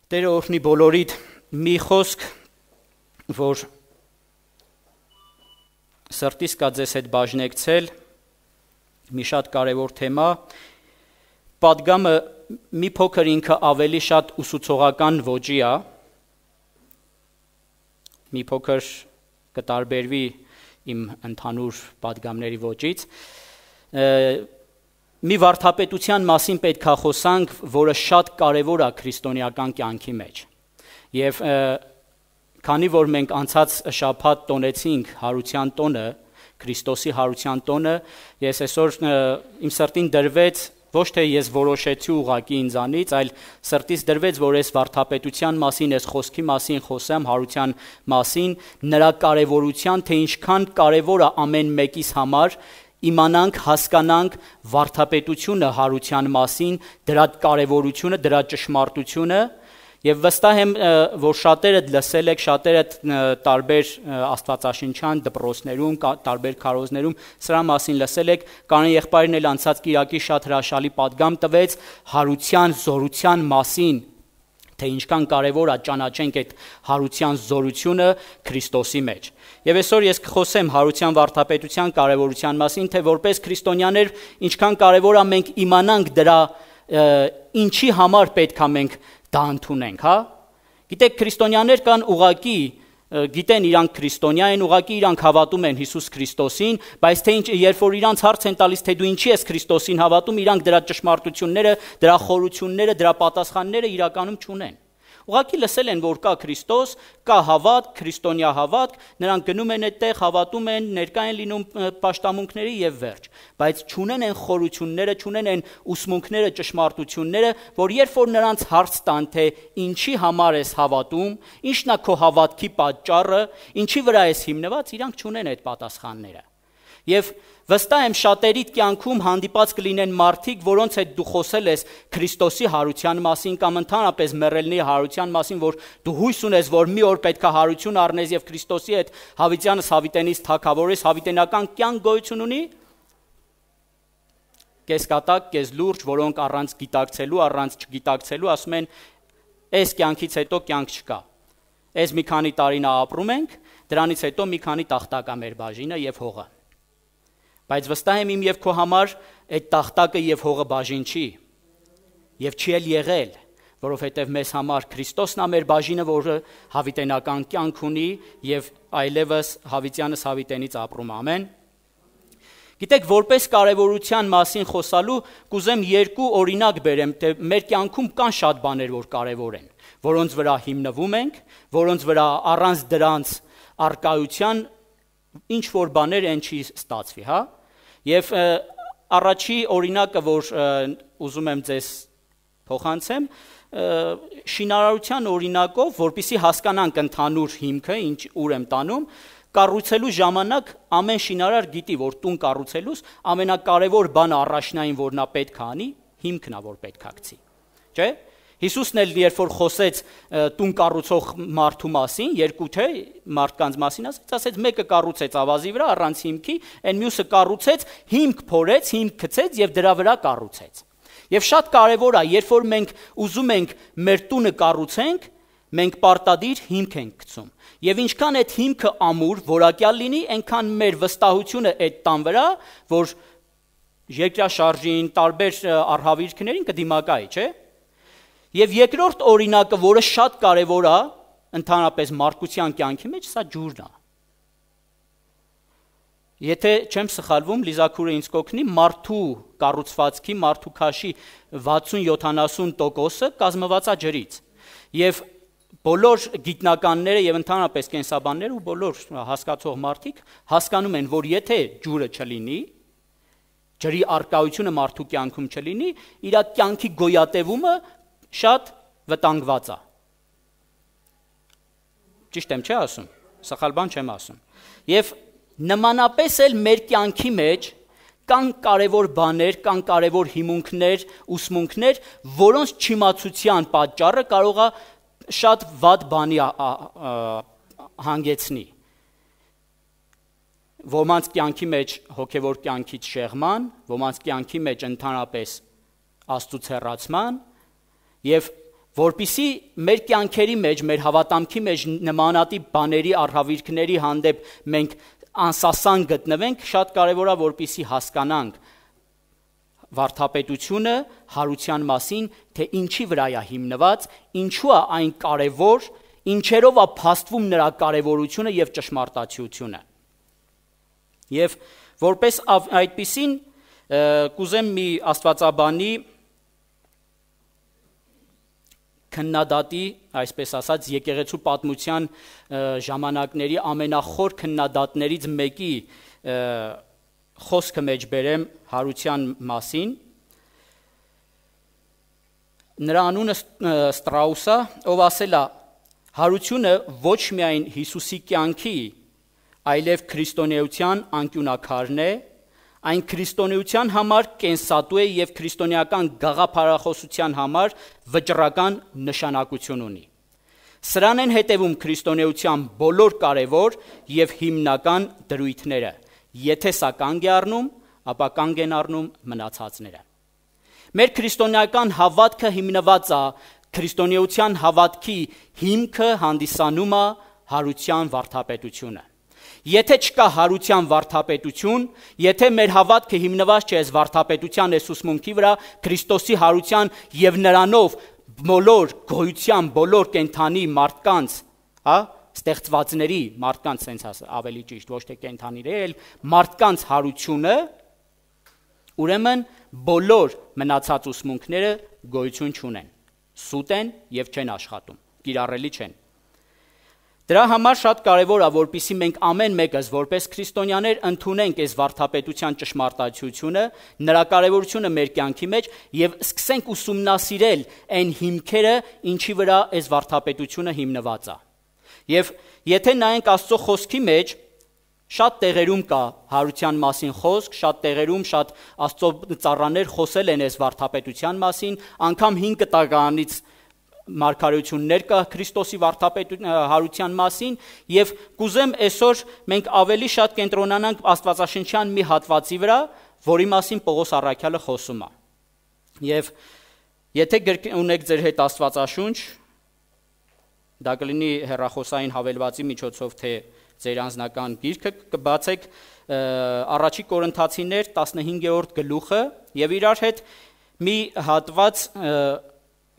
Տերը օրհնի բոլորիդ մի խոսք, որ սրտիս կա ձեզ հետ բաժնեկցել, մի շատ կարևոր թեմա, պատգամը մի փոքր ինքը ավելի շատ ուսուցողական ոճի է, մի փոքր կտարբերվի իմ ընդհանուր պատգամների ոճից, մի վարդապետության մասին պետք է խոսանք, որը շատ կարևոր է քրիստոնեական կյանքի մեջ։ Եվ քանի որ մենք անցած շաբաթ տոնեցինք հարության տոնը, Քրիստոսի հարության տոնը, ես այսօր իմ սրտին դրվեց, ոչ թե ես որոշեցի ուղղակի ինձանից, այլ սրտից դրվեց, որ այս վարդապետության մասին, այս խոսքի մասին խոսեմ, հարության մասին, նրա կարևորության, թե ինչքան կարևոր է ամեն մեկիս համար իմանանք, հասկանանք վարդապետությունը հարության մասին, դրա կարևորությունը, դրա ճշմարտությունը, եւ վստահ եմ, որ շատերդ լսել եք, շատերդ տարբեր աստվածաշնչյան դպրոցներում, տարբեր քարոզներում սրա մասին լսել եք, Կանան եղբայրն էլ անցած կիրակի շատ հրաշալի պատգամ տվեց հարության, զորության մասին, թե ինչքան կարևոր է ճանաչենք այդ հարության զորությունը Քրիստոսի մեջ։ Եվ այսօր ես կխոսեմ հարության վարդապետության կարևորության մասին, թե որպես քրիստոնյաներ ինչքան կարևոր է մենք իմանանք դրա ինչի համար պետք է մենք դա ընդունենք, հա։ Գիտեք, քրիստոնյաներ կան ուղակի, գիտեն իրանք քրիստոնյա են, ուղակի իրանք հավատում են Հիսուս Քրիստոսին, բայց թե երբ որ իրանց հարց են տալիս, թե դու ինչի ես Քրիստոսին հավատում, իրանք դրա ճշմարտությունները, դրա խորությունները, դրա պատասխանները իրականում չունեն։ Ուղղակի լսել են, որ կա Քրիստոս, կա հավատք, քրիստոնյա հավատք, նրանք գնում են այդտեղ, հավատում են, ներկա են լինում պաշտամունքների եւ վերջ, բայց չունեն են խորությունները, չունեն են ուսմունքները, ճշմարտությունները, որ երբ որ նրանց հարց տան, թե ինչի համար ես հավատում, ինչն է քո հավատքի պատճառը, ինչի վրա ես հիմնված, իրանք չունեն այդ պատասխանները։ Եվ վստահ եմ շատերիդ կյանքում հանդիպած կլինեն մարդիկ, որոնց հետ դու խոսել ես Քրիստոսի հարության մասին կամ ընդհանրապես մեռելների հարության մասին, որ դու հույս ունես, որ մի օր պետք է հարություն առնես եւ Քրիստոսի հետ հավիտյանս հավիտենից թագավորես, հավիտենական կյանք գոյություն ունի։ Կես կատակ, կես լուրջ, որոնք առանց գիտակցելու, առանց չգիտակցելու ասում են, այս կյանքից հետո կյանք չկա։ Այս մի քանի տարին ապրում ենք, դրանից հետո մի քանի տախտակ է մեր բաժինը եւ հողը։ Բայց վստահ եմ իմ եւ քո համար այդ տախտակը եւ հողը բաժին չի եւ չի էլ եղել, որովհետեւ մեզ համար Քրիստոսն է մեր բաժինը, որը հավիտենական կյանք ունի եւ այլևս հավիտյանս հավիտենից ապրում, ամեն։ Գիտեք, որպես կարևորության մասին խոսալու կուզեմ երկու օրինակ բերեմ, թե մեր կյանքում կան շատ բաներ, որ կարևոր են, որոնց վրա հիմնվում ենք, որոնց վրա առանց դրանց արկայության ինչ որ բաներ են չի ստացվի, հա։ Եվ առաջի օրինակը, որ ուզում եմ ձեզ փոխանցեմ, շինարարության օրինակով, որպեսզի հասկանանք ընդհանուր հիմքը, ուր եմ տանում, կառուցելու ժամանակ ամեն շինարար գիտի, որ տուն կառուցելուց ամենակարևոր բանը առաջնային, որ նա պետք է անի, հիմքն է, որ պետք է գցի, չէ՞։ Հիսուսն էլ երբ որ խոսեց տուն կառուցող մարդու մասին, երկու թե մարդկանց մասին ասեց, մեկը կառուցեց ավազի վրա առանց հիմքի, այն մյուսը կառուցեց, հիմք փորեց, հիմք գցեց եւ դրա վրա կառուցեց։ Եվ շատ կարևոր է, երբ որ մենք ուզում ենք մեր տունը կառուցենք, մենք պարտադիր հիմք ենք գցում։ Եվ ինչքան այդ հիմքը ամուր, որակյալ լինի, այնքան մեր վստահությունը այդ տան վրա, որ երկրաշարժին, տարբեր արհավիրքներին կդիմակայի, չէ՞։ Եվ երկրորդ օրինակը, որը շատ կարևոր է ընդհանրապես մարդկության կյանքի մեջ, սա ջուրն է։ Եթե չեմ սխալվում, Լիզաքուրը ինձ կօգնի, մարդու կառուցվածքի, մարդու քաշի 60-70%-ը կազմված է ջրից։ Եվ բոլոր գիտնականները եւ ընդհանրապես կենսաբանները ու բոլոր հասկացող մարդիկ հասկանում են, որ եթե ջուրը չլինի, ջրի արկայությունը մարդու կյանքում չլինի, իր կյանքի գոյատևումը շատ վտանգված է։ Ճիշտ եմ, չէ՞ ասում, սխալ բան չեմ ասում։ Եվ նմանապես էլ մեր կյանքի մեջ կան կարևոր բաներ, կան կարևոր հիմունքներ, ուսմունքներ, որոնց չիմացության պատճառը կարող է շատ վատ բանի հանգեցնի։ Ոմանց կյանքի մեջ հոգևոր կյանքից շեղման, ոմանց կյանքի մեջ ընդհանրապես Աստծուց հեռացման, եւ որպիսի մեր կյանքերի մեջ, մեր հավատամքի մեջ նմանատիպ բաների առհավիրքների հանդեպ մենք անսասան գտնվենք, շատ կարևոր է, որպիսի հասկանանք վարդապետությունը հարության մասին, թե ինչի վրա է հիմնված, ինչու է այն կարևոր, ինչերով է փաստվում նրա կարևորությունը եւ ճշմարտացիությունը։ Եվ որպես այդպիսին կուզեմ մի աստվածաբանի քննադատի, այսպես ասած, եկեղեցու պատմության ժամանակների ամենախոր քննադատներից մեկի խոսքը մեջ բերեմ հարության մասին։ Նրա անունը Ստրաուս է, ով ասել է. հարությունը ոչ միայն Հիսուսի կյանքի, այլև քրիստոնեության անկյունակարն է, այն քրիստոնեության համար կենսատու է եւ քրիստոնեական գաղափարախոսության համար վճռական նշանակություն ունի։ Սրան են հետևում քրիստոնեության բոլոր կարևոր եւ հիմնական դրույթները։ Եթե սա կանգ է առնում, ապա կանգ են առնում մնացածները։ Մեր քրիստոնեական հավատքը հիմնված է քրիստոնեության հավատքի հիմքը հանդիսանում է հարության վարդապետությունը։ Եթե չկա հարության վարդապետություն, եթե մեր հավատքը հիմնված չէ այս վարդապետության այս ուսմունքի վրա, Քրիստոսի հարության եւ նրանով բոլոր գոյության, բոլոր կենդանի մարդկանց, ստեղծվածների մարդկանց sense ավելի ճիշտ, ոչ թե կենդանիների, այլ մարդկանց հարությունը, ուրեմն բոլոր մնացած ուսմունքները գոյություն չունեն, սուտ են եւ չեն աշխատում, կիրառելի չեն։ Դրա համար շատ կարևոր է, որպեսզի մենք ամեն մեկս որպես քրիստոնյաներ ընդունենք այս վարդապետության ճշմարտացիությունը, նրա կարևորությունը մեր կյանքի մեջ եւ սկսենք ուսումնասիրել այն հիմքերը, ինչի վրա այս վարդապետությունը հիմնված է։ Եվ եթե նայենք Աստծո խոսքի մեջ, շատ տեղերում կա հարության մասին խոսք, շատ տեղերում շատ Աստծո ծառաներ խոսել են այս վարդապետության մասին, անգամ 5 տաղանից մարգարեություններ կա Քրիստոսի հարության մասին եւ կուզեմ այսօր մենք ավելի շատ կենտրոնանանք Աստվածաշնչյան մի հատվածի վրա, որի մասին Պողոս առաքյալը խոսում է։ Եվ եթե ունեք ձեր հետ Աստվածաշունչ, դա կլինի հեռախոսային հավելվածի միջոցով թե ձեր անձնական գիրքը, կբացեք Առաջի Կորինթացիներ 15-րդ գլուխը եւ իրար հետ մի հատված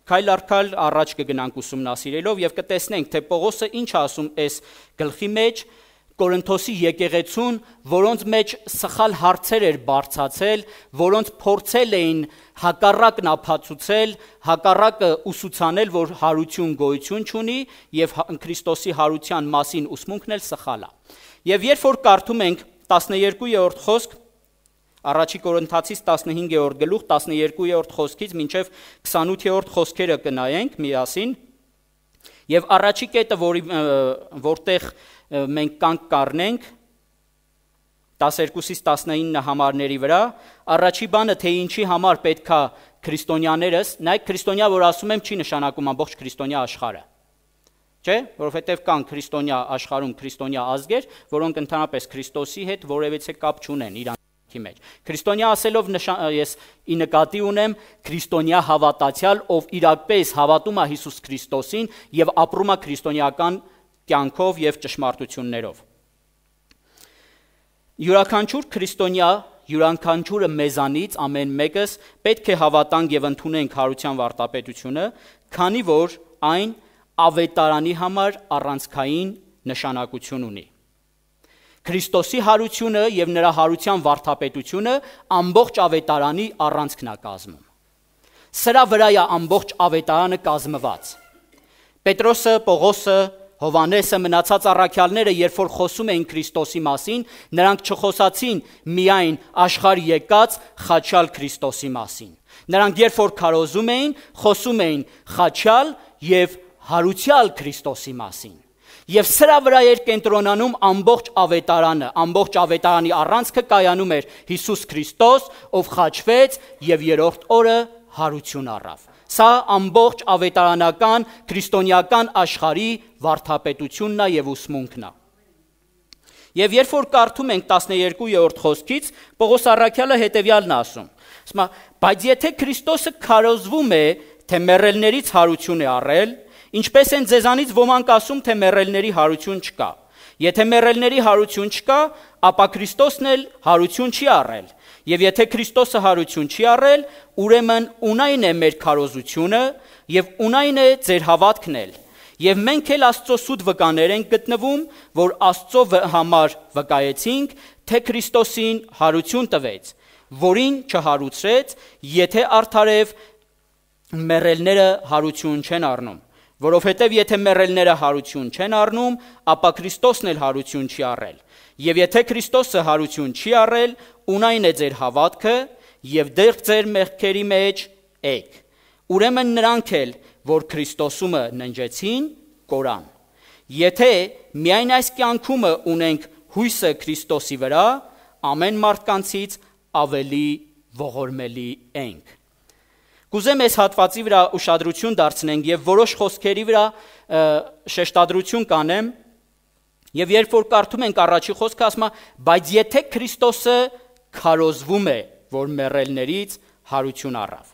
քայլ առ քայլ առաջ կգնանք ուսումնասիրելով եւ կտեսնենք, թե Պողոսը ինչ ասում այս գլխի մեջ Կորինթոսի եկեղեցուն, որոնց մեջ սխալ հարցեր էր բարձացել, որոնց փորձել էին հակառակն ապացուցել, հակառակը ուսուցանել, որ հարություն գոյություն չունի եւ Քրիստոսի հարության մասին ուսմունքն էլ սխալ է։ Եվ երբ որ կարդում ենք 12-րդ խոսք Առաջի Կորինթացիս 15-րդ գլուխ 12-րդ խոսքից մինչև 28-րդ խոսքերը կնայենք միասին եւ առաջի կետը, որտեղ մենք կանգ կառնենք 12-ից 19 համարների վրա, առաջի բանը թե ինչի համար պետքա քրիստոնյաներս, նայեք քրիստոնյա, որ ասում եմ, չի նշանակում ամբողջ քրիստոնյա աշխարհը։ Չէ, որովհետև կան քրիստոնյա աշխարհում քրիստոնյա ազգեր, որոնք ընդհանրապես Քրիստոսի հետ որևէ կապ չունեն իրան մեջ։ Քրիստոնյա ասելով ես ի նկատի ունեմ քրիստոնյա հավատացյալ, ով իրապես հավատում է Հիսուս Քրիստոսին եւ ապրում է քրիստոնեական կյանքով եւ ճշմարտություններով։ Յուրաքանչյուր քրիստոնյա, յուրաքանչյուրը մեզանից ամեն մեկս պետք է հավատանք եւ ընդունենք հարության վարդապետությունը, քանի որ այն ավետարանի համար առանցքային նշանակություն ունի։ Քրիստոսի հարությունը եւ նրա հարության վարդապետությունը ամբողջ ավետարանի առանցքն է կազմում։ Սրա վրա է ամբողջ ավետարանը կազմված։ Պետրոսը, Պողոսը, Հովանեսը, մնացած առաքյալները, երբ որ խոսում էին Քրիստոսի մասին, նրանք չխոսացին միայն աշխարհ եկած խաչյալ Քրիստոսի մասին։ Նրանք երբ որ քարոզում էին, խոսում էին խաչյալ եւ հարուցյալ Քրիստոսի մասին։ Եվ սրա վրա էր կենտրոնանում ամբողջ ավետարանը, ամբողջ ավետարանի առանցքը կայանում էր Հիսուս Քրիստոս, ով խաչվեց եւ երրորդ օրը հարություն առավ։ Սա ամբողջ ավետարանական քրիստոնեական աշխարհի վարդապետությունն է եւ ուսմունքն է։ Եվ երբ որ կարդում ենք 12-րդ խոսքից, Պողոս առաքյալը հետեւյալն ասում. բայց եթե Քրիստոսը քարոզվում է թե մեռելներից հարություն է առել, ինչպես են ձեզանից ոմանք ասում, թե մեռելների հարություն չկա։ Եթե մեռելների հարություն չկա, ապա Քրիստոսն էլ հարություն չի առել։ Եվ եթե Քրիստոսը հարություն չի առել, ուրեմն ունայն է մեր քարոզությունը եւ ունայն է ձեր հավատքն էլ։ Եվ մենք էլ Աստծո սուտ վկաներ ենք գտնվում, որ Աստծո համար վկայեցինք, թե Քրիստոսին հարություն տվեց, որին չհարուցրեց, եթե արդարև մեռելները հարություն չեն առնում։ Որովհետև եթե մեռելները հարություն չեն առնում, ապա Քրիստոսն էլ հարություն չի առել։ Եվ եթե Քրիստոսը հարություն չի առել, ունայն է ձեր հավատքը եւ դեռ ձեր մեղքերի մեջ եք։ Ուրեմն նրանք էլ, որ Քրիստոսումը ննջեցին, կորան։ Եթե միայն այս կյանքումը ունենք հույսը Քրիստոսի վրա, ամեն մարդկանցից ավելի ողորմելի ենք։ Կուզեմ այս հատվածի վրա ուշադրություն դարձնենք եւ որոշ խոսքերի վրա շեշտադրություն կանեմ, եւ երբ որ կարդում ենք առաջի խոսքը, ասում է, բայց եթե Քրիստոսը քարոզվում է, որ մեռելներից հարություն առավ։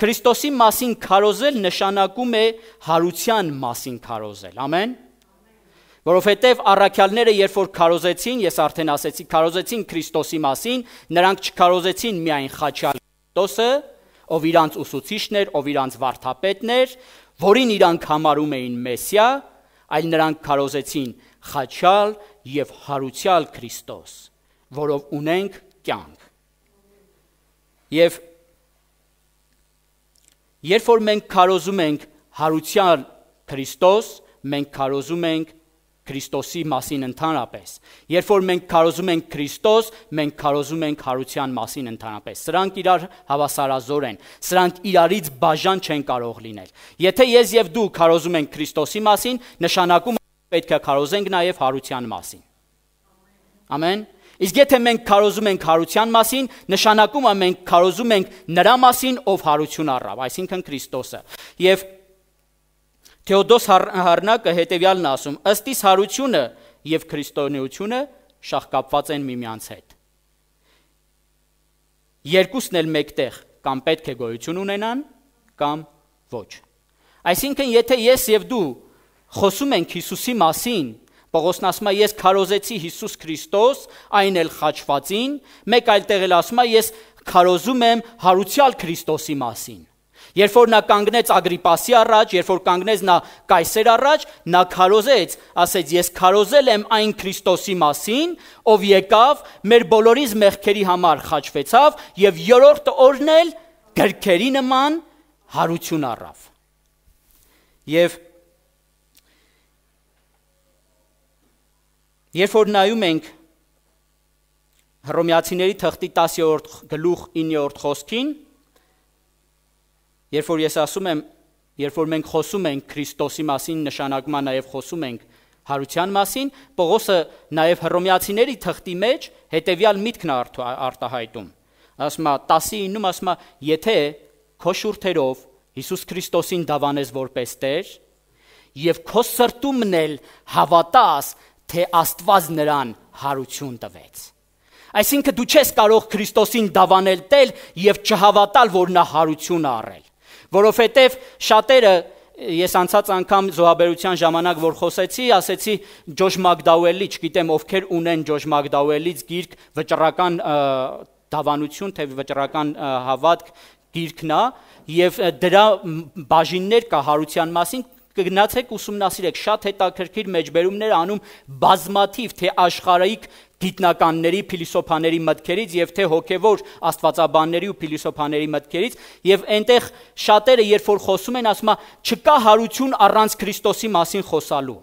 Քրիստոսի մասին քարոզել նշանակում է հարության մասին քարոզել, ամեն։ Որովհետև առաքյալները երբ որ քարոզեցին, ես արդեն ասեցի, քարոզեցին Քրիստոսի մասին, նրանք չքարոզեցին միայն խաչյալ Քրիստոսը, ով իրանց ուսուցիչն էր, ով իրանց վարդապետն էր, որին իրանք համարում էին Մեսիա, այլ նրանք քարոզեցին խաչյալ եւ հարուցյալ Քրիստոս, որով ունենք կյանք։ Եվ երբ որ մենք քարոզում ենք հարուցյալ Քրիստոս, մենք քարոզում ենք Քրիստոսի մասին ընդհանրապես։ Երբ որ մենք քարոզում ենք Քրիստոս, մենք քարոզում ենք հարության մասին ընդհանրապես։ Սրանք իրար հավասարազոր են։ Սրանք իրարից բաժան չեն կարող լինել։ Եթե ես եւ դու քարոզում ենք Քրիստոսի մասին, նշանակում է պետք է քարոզենք նաեւ հարության մասին։ Ամեն։ Իսկ եթե մենք քարոզում ենք հարության մասին, նշանակում է մենք քարոզում ենք նրա մասին, ով հարություն առավ, այսինքն Քրիստոսը։ Եվ Թեոդոս Հարնակը հետևյալն ասում. ըստ իս հարությունը եւ քրիստոնեությունը շահկապված են միմյանց հետ։ Երկուսն էլ մեկտեղ կամ պետք է գոյություն ունենան, կամ ոչ։ Այսինքն, եթե ես եւ դու խոսում ենք Հիսուսի մասին, Պողոսն ասում է, ես քարոզեցի Հիսուս Քրիստոս, այն էլ խաչվածին, մեկ այլ տեղ էլ ասում է, ես քարոզում եմ հարուցյալ Քրիստոսի մասին։ Երբ որ նա կանգնեց Ագրիպասի առաջ, երբ որ կանգնեց նա Կայսեր առաջ, նա քարոզեց, ասեց, ես քարոզել եմ այն Քրիստոսի մասին, ով եկավ, մեր բոլորիս մեղքերի համար խաչվեցավ եւ երրորդ օրն էլ գրքերի նման հարություն առավ։ Եվ երբ որ նայում ենք Հռոմեացիների թղթի 10-րդ գլուխ 9-րդ խոսքին, երբ որ ես ասում եմ, երբ որ մենք խոսում ենք Քրիստոսի մասին, նշանակում է նաև խոսում ենք հարության մասին, Պողոսը նաև Հռոմեացիների թղթի մեջ հետևյալ միտքն արտահայտում։ Ասում է 10:9-ում ասում է, եթե քո շուրթերով Հիսուս Քրիստոսին դավանես որպես Տեր եւ քո սրտումն էլ հավատաս, թե Աստված նրան հարություն տվեց։ Այսինքն դու չես կարող Քրիստոսին դավանել տել եւ չհավատալ, որ նա հարություն առել։ Որովհետև շատերը, ես անցած անգամ զոհաբերության ժամանակ որ խոսեցի, ասեցի Ջոշ Մակդաուելի, չգիտեմ ովքեր ունեն Ջոշ Մակդաուելից գիրք վճռական դավանություն, թե վճռական հավատք գիրքն է, եւ դրա բաժիններ կա հարության մասին, կգնացեք ուսումնասիրեք, շատ հետաքրքիր մեջբերումներ անում բազմաթիվ թե աշխարհիկ գիտնականների, փիլիսոփաների մտքերից եւ թե հոգեվոր աստվածաբանների ու փիլիսոփաների մտքերից, եւ այնտեղ շատերը երբ որ խոսում են, ասում են, չկա հարություն առանց Քրիստոսի մասին խոսալու։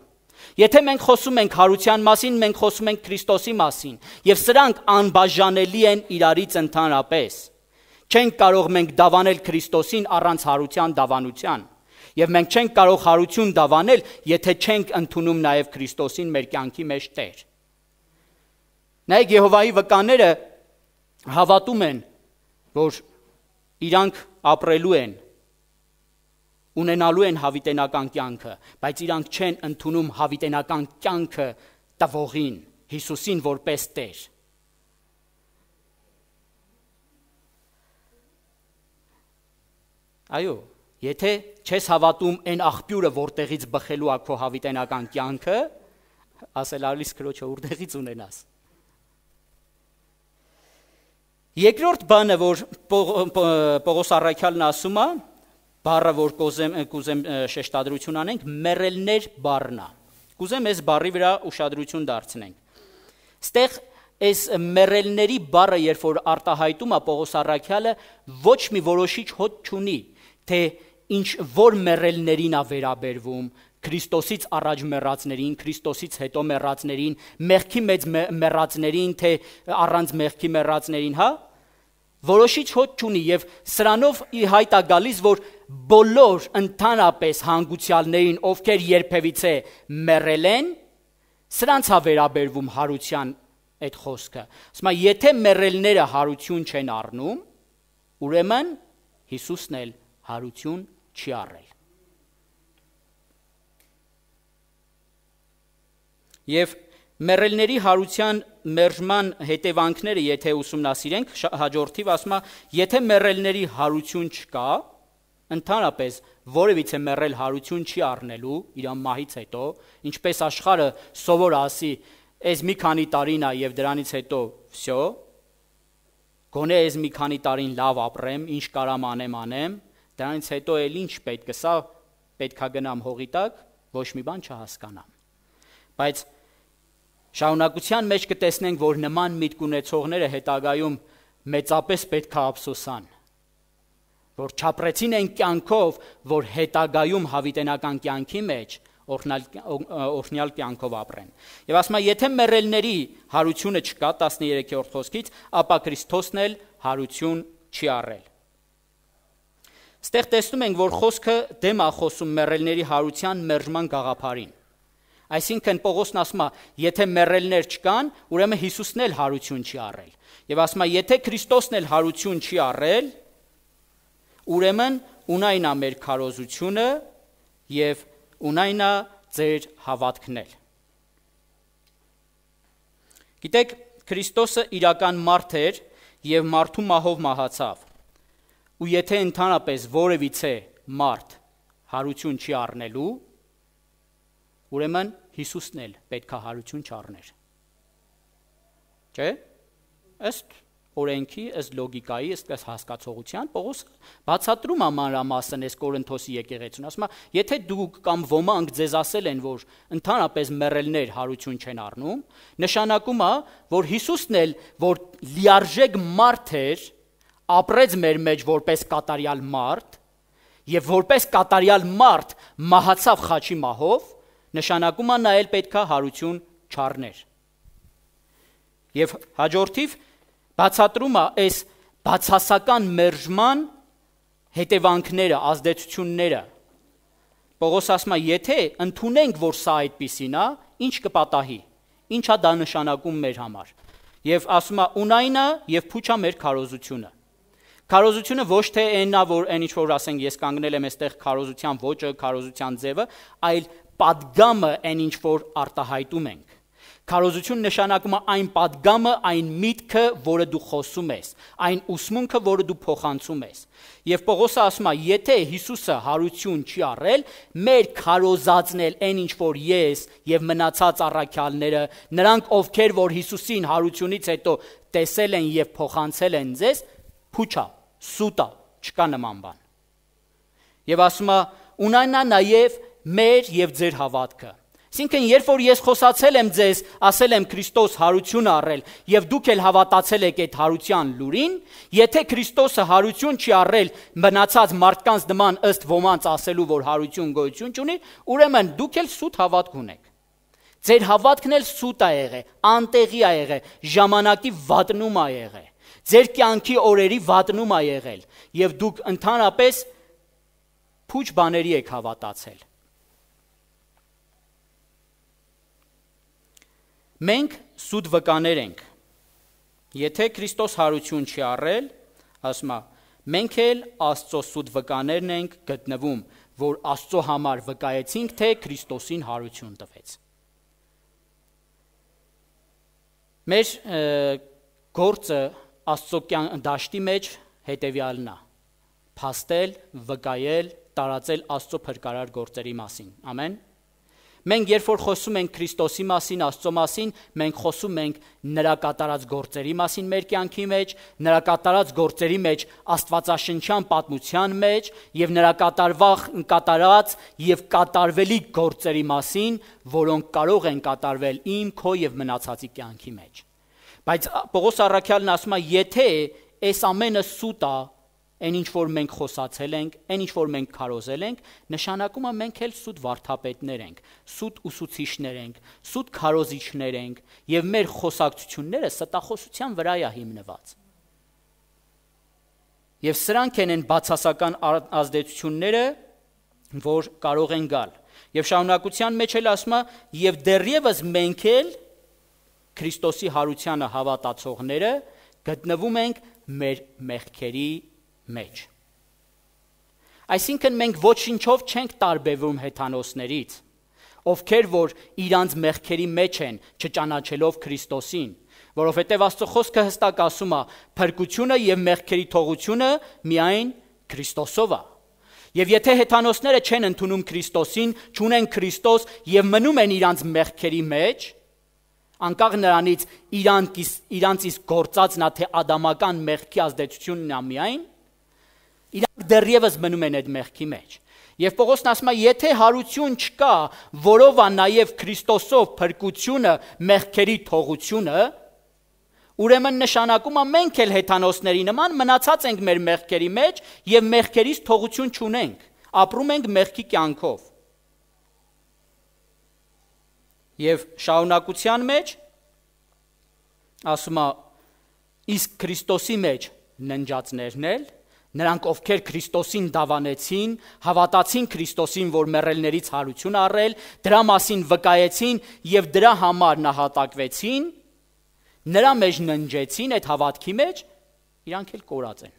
Եթե մենք խոսում ենք հարության մասին, մենք խոսում ենք Քրիստոսի մասին, եւ սրանք անբաժանելի են իրարից ընդհանրապես։ Չենք կարող մենք դավանել Քրիստոսին առանց հարության դավանության։ Եվ մենք չենք կարող հարություն դավանել, եթե չենք ընդունում նաև Քրիստոսին մեր կյանքի մեջ Տեր։ Նայեք, Եհովայի վկաները հավատում են, որ իրանք ապրելու են, ունենալու են հավիտենական կյանքը, բայց իրանք չեն ընդունում հավիտենական կյանքը տվողին, Հիսուսին որպես Տեր։ Այո, Եթե չես հավատում այն աղբյուրը, որտեղից բխելու է քո հավիտենական կյանքը, ասել արլիս քրոջը որտեղից ունենաս։ Երկրորդ բանը, որ Պողոս առաքյալն ասում է, բառը, որ կուզեմ շեշտադրություն անենք, մեռելներ բառն է։ Կուզեմ այս բառի վրա ուշադրություն դարձնենք։ Ստեղ այս մեռելների բառը, երբ որ արտահայտում է Պողոս առաքյալը, ոչ մի որոշիչ հոտ չունի, թե ինչ որ մեռելներին է վերաբերվում, Քրիստոսից առաջ մեռածներին, Քրիստոսից հետո մեռածներին, մեղքի մեջ մեռածներին, թե առանց մեղքի մեռածներին, հա? Որոշիչ հոտ չունի եւ սրանով ի հայտ է գալիս, որ բոլոր ընդհանրապես հանգուցյալներին, ովքեր երբևիցե մեռել են, սրանց է վերաբերվում հարության այդ խոսքը։ Ասում է, եթե մեռելները հարություն չեն առնում, ուրեմն Հիսուսն էլ հարություն չի առել։ Եվ մեռելների հարության մերժման հետևանքները, եթե ուսումնասիրենք, հաջորդիվ ասում է, եթե մեռելների հարություն չկա, ընդհանրապես որևիցե մեռել հարություն չի առնելու իր մահից հետո, ինչպես աշխարհը սովոր ասի, այս մի քանի տարին է եւ դրանից հետո վсё, գոնե այս մի քանի տարին լավ ապրեմ, ինչ կարամ անեմ, դրանից հետո էլ ինչ պետք է, սա պետքա գնամ հողի տակ, ոչ մի բան չհասկանամ։ Բայց շարունակության մեջ կտեսնենք, որ նման միտք ունեցողները հետագայում մեծապես պետք է ափսոսան, որ չապրեցին այն կյանքով, որ հետագայում հավիտենական կյանքի մեջ օրհնյալ կյանքով ապրեն։ Եվ ասում է, եթե մեռելների հարությունը չկա 13-րդ խոսքից, ապա Քրիստոսն էլ հարություն չի առել։ Ստեղ տեսնում ենք, որ խոսքը դեմ է խոսում մեռելների հարության մերժման գաղափարին։ Այսինքն Պողոսն ասում է, եթե մեռելներ չկան, ուրեմն Հիսուսն էլ հարություն չի առել։ Եվ ասում է, եթե Քրիստոսն էլ հարություն չի առել, ուրեմն ունայն է մեր քարոզությունը եւ ունայն է ձեր հավատքն էլ։ Գիտեք, Քրիստոսը իրական մարդ էր եւ մարդու մահով մահացավ։ Ու եթե ընդհանրապես որևիցե մարդ հարություն չի առնելու, ուրեմն Հիսուսն էլ պետք է հարություն չառներ։ Չէ՞։ Ըստ օրենքի, ըստ լոգիկայի, ըստ հասկացողության, Պողոսը բացատրում է մանրամասն այս Կորինթոսի եկեղեցուն, ասում է, եթե դուք կամ ոմանք ձեզ ասել են, որ ընդհանրապես մեռելներ հարություն չեն առնում, նշանակում է, որ Հիսուսն էլ, որ լիարժեք մարդ էր, ապրեց մեր մեջ որպես կատարյալ մարդ, եւ որպես կատարյալ մարդ մահացավ խաչի մահով, նշանակում է նա էլ պետքա հարություն չառներ։ Եվ հաջորդիվ բացատրում է այս բացասական մերժման հետևանքները, ազդեցությունները։ Պողոս ասում է, եթե ընդունենք, որ սա այդպիսին է, ինչ կպատահի, ինչ է դա նշանակում մեր համար։ Եվ ասում է, ունայն է եւ փուչ է մեր քարոզությունը։ Քարոզությունը ոչ թե այնն է, որ այն ինչ որ ասենք ես կանգնել եմ այստեղ քարոզության ոճը, քարոզության ձևը, այլ պատգամը այն ինչ որ արտահայտում ենք։ Քարոզություն նշանակում է այն պատգամը, այն միտքը, որը դու խոսում ես, այն ուսմունքը, որը դու փոխանցում ես։ Եվ Պողոսը ասում է, եթե Հիսուսը հարություն չի առել, մեր քարոզածն էլ այն ինչ որ ես եւ մնացած առաքյալները, նրանք ովքեր որ Հիսուսին հարությունից հետո տեսել են եւ փոխանցել են ձեզ, փուչա, սուտա, չկա նման բան։ Եվ ասում է, ունանա նաեւ մեր եւ ձեր հավատքը։ Այսինքն, երբ որ ես խոսացել եմ ձեզ, ասել եմ Քրիստոս հարություն առել եւ դուք էլ հավատացել եք այդ հարության լուրին, եթե Քրիստոսը հարություն չի առել մնացած մարդկանց նման ըստ ոմանց ասելու, որ հարություն գոյություն չունի, ուրեմն դուք էլ սուտ հավատք ունեք։ Ձեր հավատքն էլ սուտ է եղել, անտեղի է եղել, ժամանակի վատնում է եղել, ձեր կյանքի օրերի վատնում է եղել եւ դուք ընդհանրապես փուչ բաների եք հավատացել։ Մենք սուտ վկաներ ենք, եթե Քրիստոս հարություն չի առել, ասում է, մենք էլ Աստծո սուտ վկաներն ենք գտնվում, որ Աստծո համար վկայեցինք, թե Քրիստոսին հարություն տվեց։ Մեր գործը Աստծո դաշտի մեջ հետևյալն է, փաստել, վկայել տարածել Աստծո փրկարար գործերի մասին։ Ամեն։ Մենք երբ որ խոսում ենք Քրիստոսի մասին, Աստծո մասին, մենք խոսում ենք նրա կատարած գործերի մասին մեր կյանքի մեջ, նրա կատարած գործերի մեջ աստվածաշնչյան պատմության մեջ եւ նրա կատարած եւ կատարվելիք գործերի մասին, որոնք կարող են կատարվել իմ, քո եւ մնացածի կյանքի մեջ։ Բայց Պողոս առաքյալն ասում է, եթե այս ամենը սուտ է, այն ինչ որ մենք խոսացել ենք, այն ինչ որ մենք քարոզել ենք, նշանակում է մենք էլ սուտ վարդապետներ ենք, սուտ ուսուցիչներ ենք, սուտ քարոզիչներ ենք եւ մեր խոսակցությունները ստախոսության վրա է հիմնված։ Եվ սրանք են բացասական ազդեցությունները, որ կարող են գալ։ Եվ շարունակության մեջ էլ ասում է, եւ դեռևս մենք էլ Քրիստոսի հարությանը հավատացողները գտնվում ենք մեր մեղքերի մեջ։ Այսինքն մենք ոչինչով չենք տարբերվում հեթանոսներից, ովքեր որ իրանց մեղքերի մեջ են, չճանաչելով Քրիստոսին, որովհետև Աստծո խոսքը հստակ ասում է, փրկությունը եւ մեղքերի թողությունը միայն Քրիստոսով է։ Եվ եթե հեթանոսները չեն ընդունում Քրիստոսին, չունեն Քրիստոս եւ մնում են իրանց մեղքերի մեջ, անկախ նրանից իրանց իսկ գործածն է թե ադամական մեղքի ազդեցությունն է միայն, իրանք դեռևս մնում են այդ մեղքի մեջ։ Եվ Պողոսն ասում է, եթե հարություն չկա, որով է նաև Քրիստոսով փրկությունը, մեղքերի թողությունը, ուրեմն նշանակում է մենք էլ հեթանոսների նման մնացած ենք մեր մեղքերի մեջ եւ մեղքերից թողություն չունենք, ապրում ենք մեղքի կյանքով։ Եվ շարունակության մեջ ասում է, իսկ Քրիստոսի մեջ ննջածներն էլ, նրանք ովքեր Քրիստոսին դավանեցին, հավատացին Քրիստոսին, որ մեռելներից հարություն առել, դրա մասին վկայեցին եւ դրա համար նահատակվեցին, նրա մեջ ննջեցին այդ հավատքի մեջ, իրանք էլ կորած են։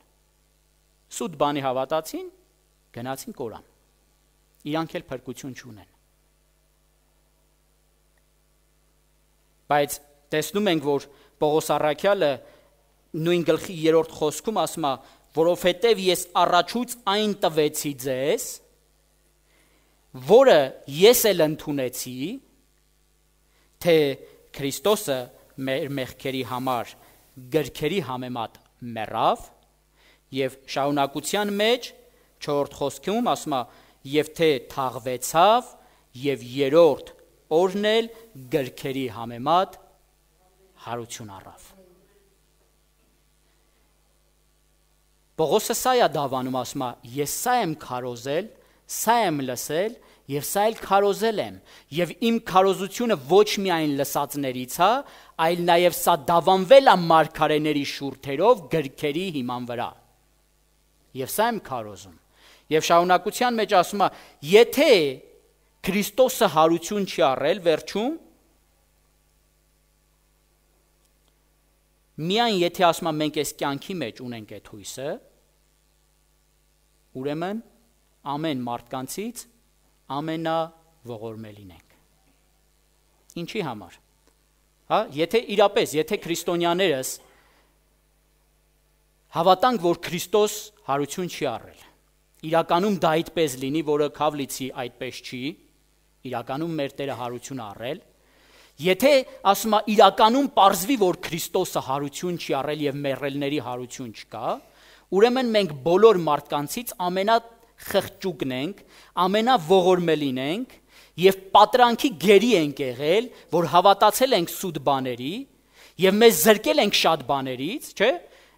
Սուտ բանի հավատացին, գնացին կորան։ Իրանք էլ փրկություն չունեն։ Բայց տեսնում ենք, որ Պողոս առաքյալը նույն գլխի 3-րդ խոսքում ասում է, որովհետև ես առաջուց այն տվեցի ձեզ, որը ես էլ ընդունեցի, թե Քրիստոսը մեր մեղքերի համար գրքերի համեմատ մեռավ, եւ շարունակության մեջ 4-րդ խոսքում ասում է, եւ թե թաղվեցավ, եւ 3-րդ օրն էլ գրքերի համեմատ հարություն առավ։ Պողոսը սա է դավանում, ասում է, ես սա եմ քարոզել, սա եմ լսել եւ սա էլ քարոզել եմ, եւ իմ քարոզությունը ոչ միայն լսածներից է, այլ նաեւ սա դավանվել է մարգարեների շուրթերով գրքերի հիման վրա։ Եվ սա եմ քարոզում։ Եվ շարունակության մեջ ասում է, եթե Քրիստոսը հարություն չի առել վերջում, միայն եթե ասում է մենք այս կյանքի մեջ ունենք այդ հույսը, ուրեմն ամեն մարդկանցից ամենաողորմելին ենք։ Ինչի համար։ Հա, եթե քրիստոնյաներս հավատանք, որ Քրիստոս հարություն չի առել, իրականում դա այդպես լինի, որը Քավլիցի այդպես չի, իրականում մեր Տերը հարություն առել, եթե ասում է իրականում պարզվի, որ Քրիստոսը հարություն չի առել եւ մեռելների հարություն չկա, ուրեմն մենք բոլոր մարդկանցից ամենախղճուկն ենք, ամենաողորմելին ենք եւ պատրանքի գերի ենք եղել, որ հավատացել ենք սուտ բաների եւ մեզ զրկել ենք շատ բաներից, չէ՞։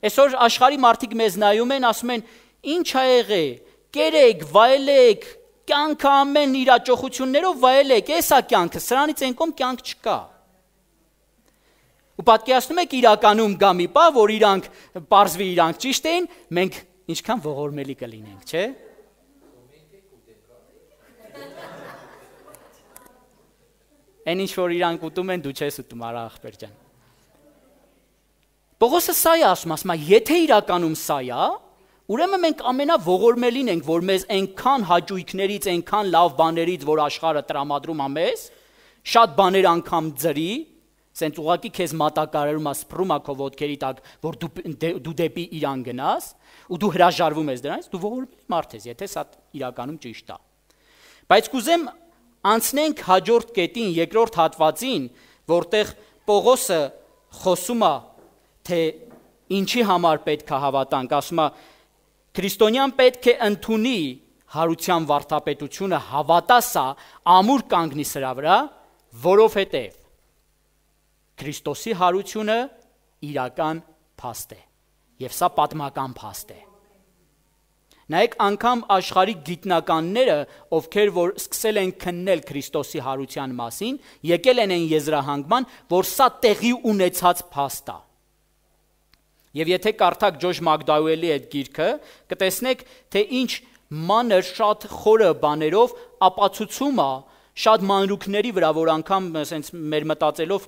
Այսօր աշխարհի մարդիկ մեզ նայում են, ասում են. «Ինչ ա եղել, կերեք, վայելեք, կյանքը ամեն իր աջողություններով վայելեք, էսա կյանքը, սրանից այն կողմ կյանք չկա»։ Ու պատկերացնում եք իրականում գա մի պահ, որ իրանք պարզվի իրանք ճիշտ էին, մենք ինչքան ողորմելի կլինենք, չէ՞։ Այն ինչ որ իրանք ուտում են, դու չես ուտում, արա ախպեր ջան։ Պողոսը սա է ասում, եթե իրականում սա է, ուրեմն մենք ամենաողորմելին ենք, որ մեզ այնքան հաճույքներից, այնքան լավ բաներից, որ աշխարհը տրամադրում է մեզ, շատ բաներ անգամ ձրի, սենց ուղակի քեզ մատակարարում է, սփռում է քո ոտքերի տակ, որ դու դեպի իրան գնաս, ու դու հրաժարվում ես դրանից, դու ողորմելի մարդ ես, եթե սա իրականում ճիշտ է։ Բայց կուզեմ անցնենք հաջորդ կետին, երկրորդ հատվածին, որտեղ Պողոսը խոսում է, թե ինչի համար պետք է հավատանք, ասում է, քրիստոնյան պետք է ընդունի հարության վարդապետությունը, հավատա սա, ամուր կանգնի սրա վրա, որովհետև Քրիստոսի հարությունը իրական փաստ է, եւ սա պատմական փաստ է։ Նայեք, անգամ աշխարհի գիտնականները, ովքեր որ սկսել են քննել Քրիստոսի հարության մասին, եկել են այն եզրահանգման, որ սա տեղի ունեցած փաստ է։ Եվ եթե կարդաք Ջոժ Մակդաուելի այդ գիրքը, կտեսնեք, թե ինչ մանր շատ խորը բաներով ապացուցում է շատ մանրուքների վրա, որ անգամ ասենց մեր մտածելով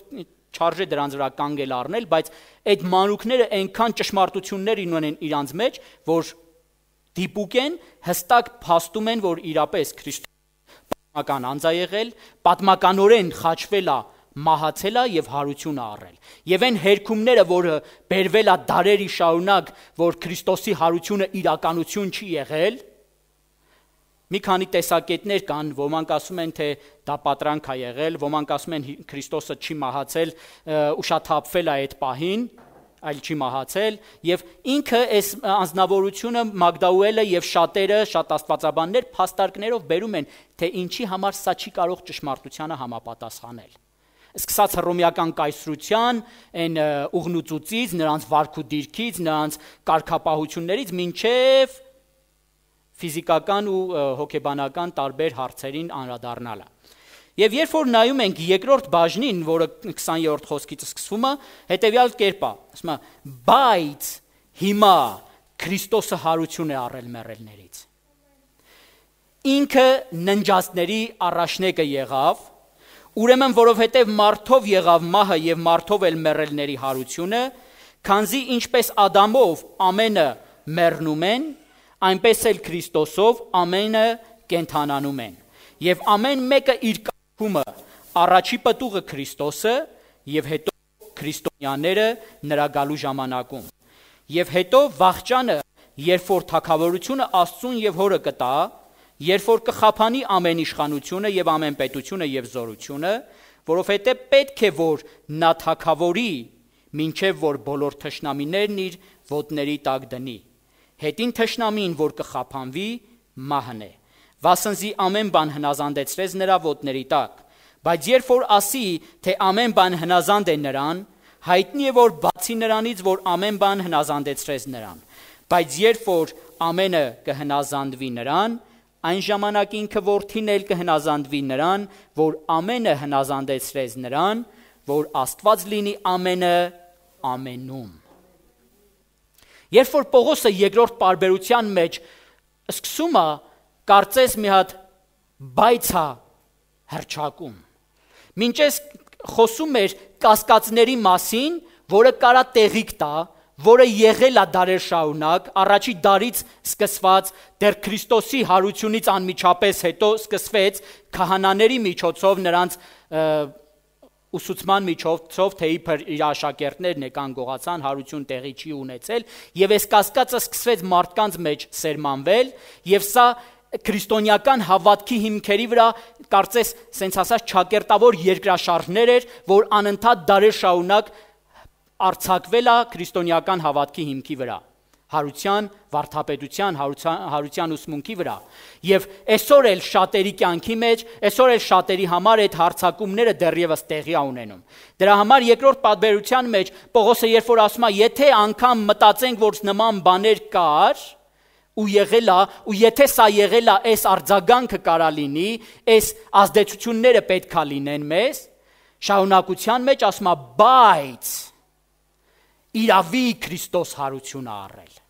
չարժե դրանց վրա կանգել առնել, բայց այդ մանրուքները այնքան ճշմարտություններ ունեն իրանց մեջ, որ դիպուկ են, հստակ փաստում են, որ իրապես Քրիստոս պատմական անձ է եղել, պատմականորեն խաչվել է, մահացել է եւ հարություն է առել։ Եվ այն հերքումները, որը բերվել է դարերի շարունակ, որ Քրիստոսի հարությունը իրականություն չի եղել, մի քանի տեսակետներ կան, ոմանք ասում են, թե դա պատրանք է եղել, ոմանք ասում են Քրիստոսը չի մահացել, ուշաթափվել է այդ պահին, այլ չի մահացել, եւ ինքը այս անձնավորությունը Մագդաուելը եւ շատերը, շատ աստվածաբաններ փաստարկներով բերում են, թե ինչի համար սա չի կարող ճշմարտությանը համապատասխանել։ Սկսած հռոմեական կայսրության, այն ուղնուծուծից, նրանց վարք ու դիրքից, նրանց կարգապահություններից մինչև ֆիզիկական ու հոգեբանական տարբեր հարցերին անդրադառնալը։ Եվ երբ որ նայում ենք երկրորդ բաժնին, որը 20-րդ խոսքից սկսվում է, հետևյալ կերպ է, ասում է, բայց հիմա Քրիստոսը հարություն է առել մեռելներից։ Ինքը ննջածների առաջնեկը եղավ, ուրեմն որովհետև մարդով եղավ մահը եւ մարդով էլ մեռելների հարությունը, քանզի ինչպես Ադամով ամենը մեռնում են, այնպես էլ Քրիստոսով ամենը կենթանանում են։ Եվ ամեն մեկը իր կարգումը, առաջի պտուղը Քրիստոսը եւ հետո քրիստոնյաները նրա գալու ժամանակում։ Եվ հետո վախճանը, երբ որ թագավորությունը Աստծուն եւ Հորը կտա, երբ որ կխափանի ամեն իշխանությունը եւ ամեն պետությունը եւ զորությունը, որովհետեւ պետք է որ նա թագավորի, մինչեւ որ բոլոր թշնամիներն իր ոտների տակ դնի։ Հետին թշնամին, որ կխափանվի, մահն է, վասնզի ամեն բան հնազանդեցրեց նրա ոտների տակ, բայց երբ որ ասի, թե ամեն բան հնազանդ է նրան, հայտնի է, որ բացի նրանից, որ ամեն բան հնազանդեցրեց նրան, բայց երբ որ ամենը կհնազանդվի նրան, այն ժամանակ ինքը որդին էլ կհնազանդվի նրան, որ ամենը հնազանդեցրեց նրան, որ Աստված լինի ամենը ամենում։ Երբ որ Պողոսը երկրորդ պարբերության մեջ սկսում է, կարծես մի հատ բայց է հռչակում։ Մինչ այս խոսում էր կասկածների մասին, որը կարա տեղիք տա, որը եղել է դարեր շարունակ, առաջի դարից սկսված, դեռ Քրիստոսի հարությունից անմիջապես հետո սկսվեց քահանաների միջոցով նրանց ուսուցման միջոցով, թե իբր իր աշակերտներն եկան գողացան, հարություն տեղի չի ունեցել, եւ այս կասկածը սկսվեց մարդկանց մեջ սերմանվել, եւ սա քրիստոնեական հավատքի հիմքերի վրա կարծես սենց ասած ճակերտավոր երկրաշարժներ էր, որ անընդհատ դարեր շարունակ արձակվել է քրիստոնեական հավատքի հիմքի վրա, հարության, վարդապետության, հարության ուսմունքի վրա։ Եվ այսօր էլ շատերի կյանքի մեջ, այսօր էլ շատերի համար այդ հարցակումները դեռևս տեղի ունենում։ Դրա համար երկրորդ պատբերության մեջ Պողոսը երբ որ ասում է, եթե անգամ մտածենք, որ նման բաներ կար, ու եղել է, ու եթե սա եղել է, այս արձագանքը կարա լինի, այս ազդեցությունները պետք է լինեն մեզ, շարունակության մեջ ասում է, բայց իրավի Քրիստոս հարություն է առել։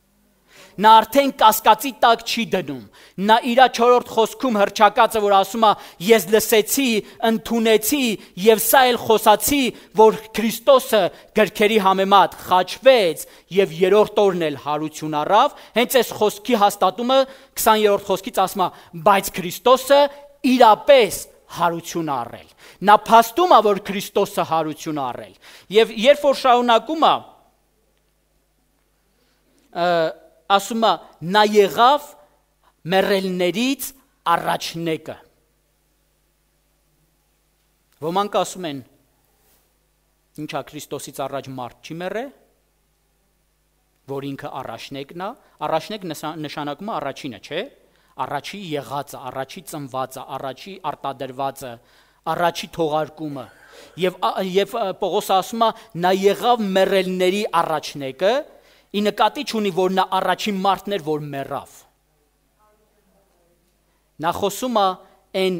Նա արդեն կասկածի տակ չի դնում։ Նա իր 4-րդ խոսքում հռչակածը, որ ասում է, ես լսեցի, ընդունեցի եւ սա էլ խոսացի, որ Քրիստոսը գրքերի համեմատ խաչվեց եւ 3-րդ օրն էլ հարություն առավ, հենց այս խոսքի հաստատումը 20-րդ խոսքից ասում է, բայց Քրիստոսը իրապես հարություն առել։ Նա փաստում է, որ Քրիստոսը հարություն առել։ Եվ երբ որ շարունակում է, ասում է, նա եղավ մեռելներից առաջնեկը։ Ոմանք ասում են, ինչա Քրիստոսից առաջ մարդ չի մեռել, որ ինքը առաջնեկն է, առաջնեկ նշանակում է առաջինը, չէ՞։ Առաջի եղածը, առաջի ծնվածը, առաջի արտադրվածը, առաջի թողարկումը։ Եվ Պողոսը ասում է, նա եղավ մեռելների առաջնեկը, ի նկատի չունի, որ նա առաջին մարդն էր, որ մեռավ։ Նա խոսում է այն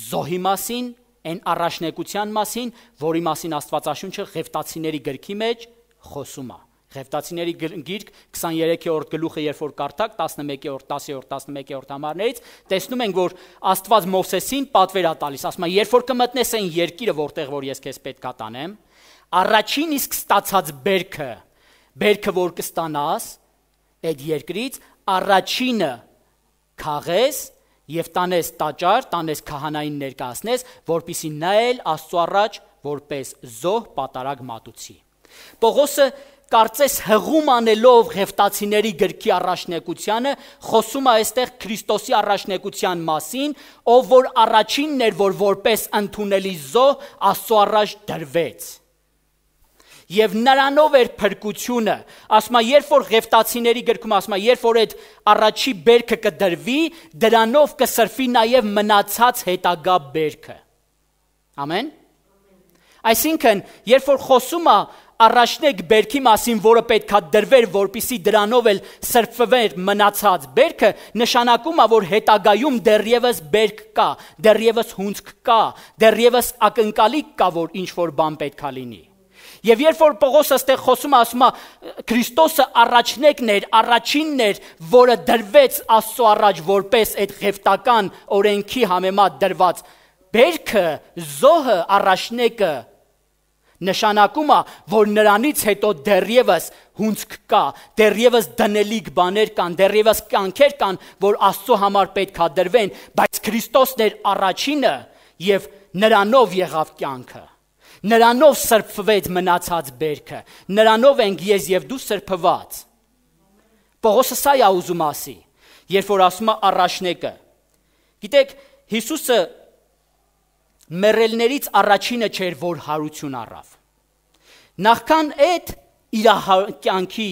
զոհի մասին, այն առաջնեկության մասին, որի մասին Աստվածաշունչը Ղևտացիների գրքի մեջ խոսում է։ Ղևտացիների գիրք 23-րդ գլուխը, երբ որ կարդաք 11-րդ, 10-րդ, 11-րդ համարներից, տեսնում ենք, որ Աստված Մովսեսին պատվեր է տալիս, ասում է, երբ որ կմտնես այն երկիրը, որտեղ որ ես քեզ պետք է տանեմ, առաջին իսկ ստացած բերքը, որ կստանաս այդ երկրից, առաջինը քաղես եւ տանես տաճար, տանես քահանային ներկայացնես, որպեսզի նա էլ Աստծո առաջ որպես զոհ պատարագ մատուցի։ Պողոսը կարծես հղում անելով Ղևտացիների գրքի առաջնեկությանը, խոսում է այստեղ Քրիստոսի առաջնեկության մասին, ով որ առաջինն էր, որ որպես ընդունելի զոհ Աստծո առաջ դրվեց։ Եվ նրանով էր փրկությունը, ասում է, երբ որ Ղևտացիների գրքում ասում է, երբ որ այդ առաջի բերքը կդրվի, դրանով կսրվի նաև մնացած հետագա բերքը։ Ամեն։ Այսինքն, երբ որ խոսում է առաջնեկ բերքի մասին, որը պետքա դրվեր, որպեսզի դրանով էլ սրբվեր մնացած բերքը, նշանակում է, որ հետագայում դեռևս բերք կա, դեռևս հունձք կա, դեռևս ակնկալիք կա, որ ինչ որ բան պետքա լինի։ Եվ երբ որ Պողոսը այստեղ խոսում է, ասում է, Քրիստոսը առաջնեկն էր, առաջինն էր, որը դրվեց Աստծո առաջ որպես այդ ղևտական օրենքի համեմատ դրված բերքը, զոհը, առաջնեկը, նշանակում է, որ նրանից հետո դեռևս հունձք կա, դեռևս դնելիք բաներ կան, դեռևս կյանքեր կան, որ Աստծո համար պետք է դրվեն, բայց Քրիստոսն էր առաջինը եւ նրանով եղավ կյանքը։ Նրանով սրբվեց մնացած բերքը, նրանով ենք ես եւ դու սրբված։ Պողոսը սա է ուզում ասի, երբ որ ասում է առաջնեկը։ Գիտեք, Հիսուսը մեռելներից առաջինը չէր, որ հարություն առավ։ Նախքան այդ իր կյանքի,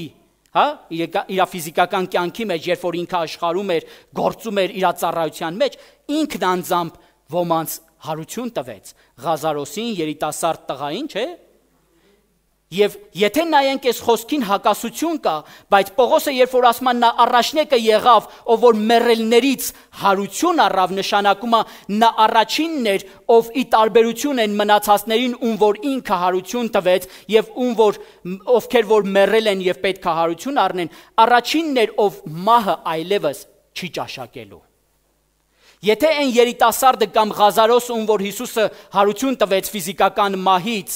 իր ֆիզիկական կյանքի մեջ, երբ որ ինքը աշխարհում էր, գործում էր իր ծառայության մեջ, ինքն անձամբ ոմանց հարություն տվեց, Ղազարոսին, երիտասարդ տղային, չէ՞։ Եվ եթե նայենք այս խոսքին հակասություն կա, բայց Պողոսը երբ որ ասում է նա առաջնեկը եղավ, ով որ մեռելներից հարություն առավ, նշանակում է նա առաջինն էր, ով ի տարբերություն են մնացածներին, ում որ ինքը հարություն տվեց եւ ովքեր որ մեռել են եւ պետք է հարություն առնեն, առաջինն էր, ով մահը այլևս չի ճաշակելու։ Եթե այն երիտասարդը կամ Ղազարոս, ում որ Հիսուսը հարություն տվեց ֆիզիկական մահից,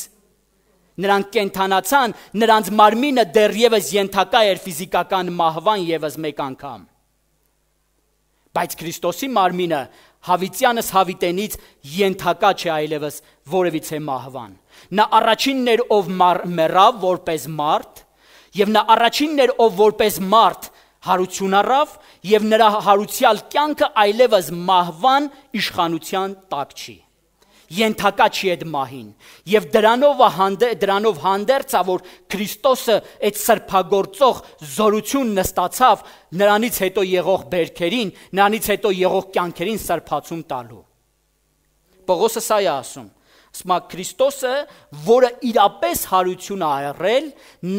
նրանք կենթանացան, նրանց մարմինը դեռևս ենթակա էր ֆիզիկական մահվան եւս մեկ անգամ։ Բայց Քրիստոսի մարմինը հավիտյանս հավիտենից ենթակա չէ այլևս որևիցե մահվան։ Նա առաջինն էր, ով մեռավ որպես մարդ, եւ նա առաջինն էր, ով որպես մարդ հարություն առավ, եւ նրա հարուցյալ կյանքը այլևս մահվան իշխանության տակ չի։ Ենթակա չի այդ մահին, եւ դրանով հանդերձ է, որ Քրիստոսը այդ սրբագործող զորությունն ստացավ նրանից հետո եղող բերքերին, նրանից հետո եղող կյանքերին սրբացում տալու։ Պողոսը սա է ասում, Քրիստոսը, որը իրապես հարություն է եղել,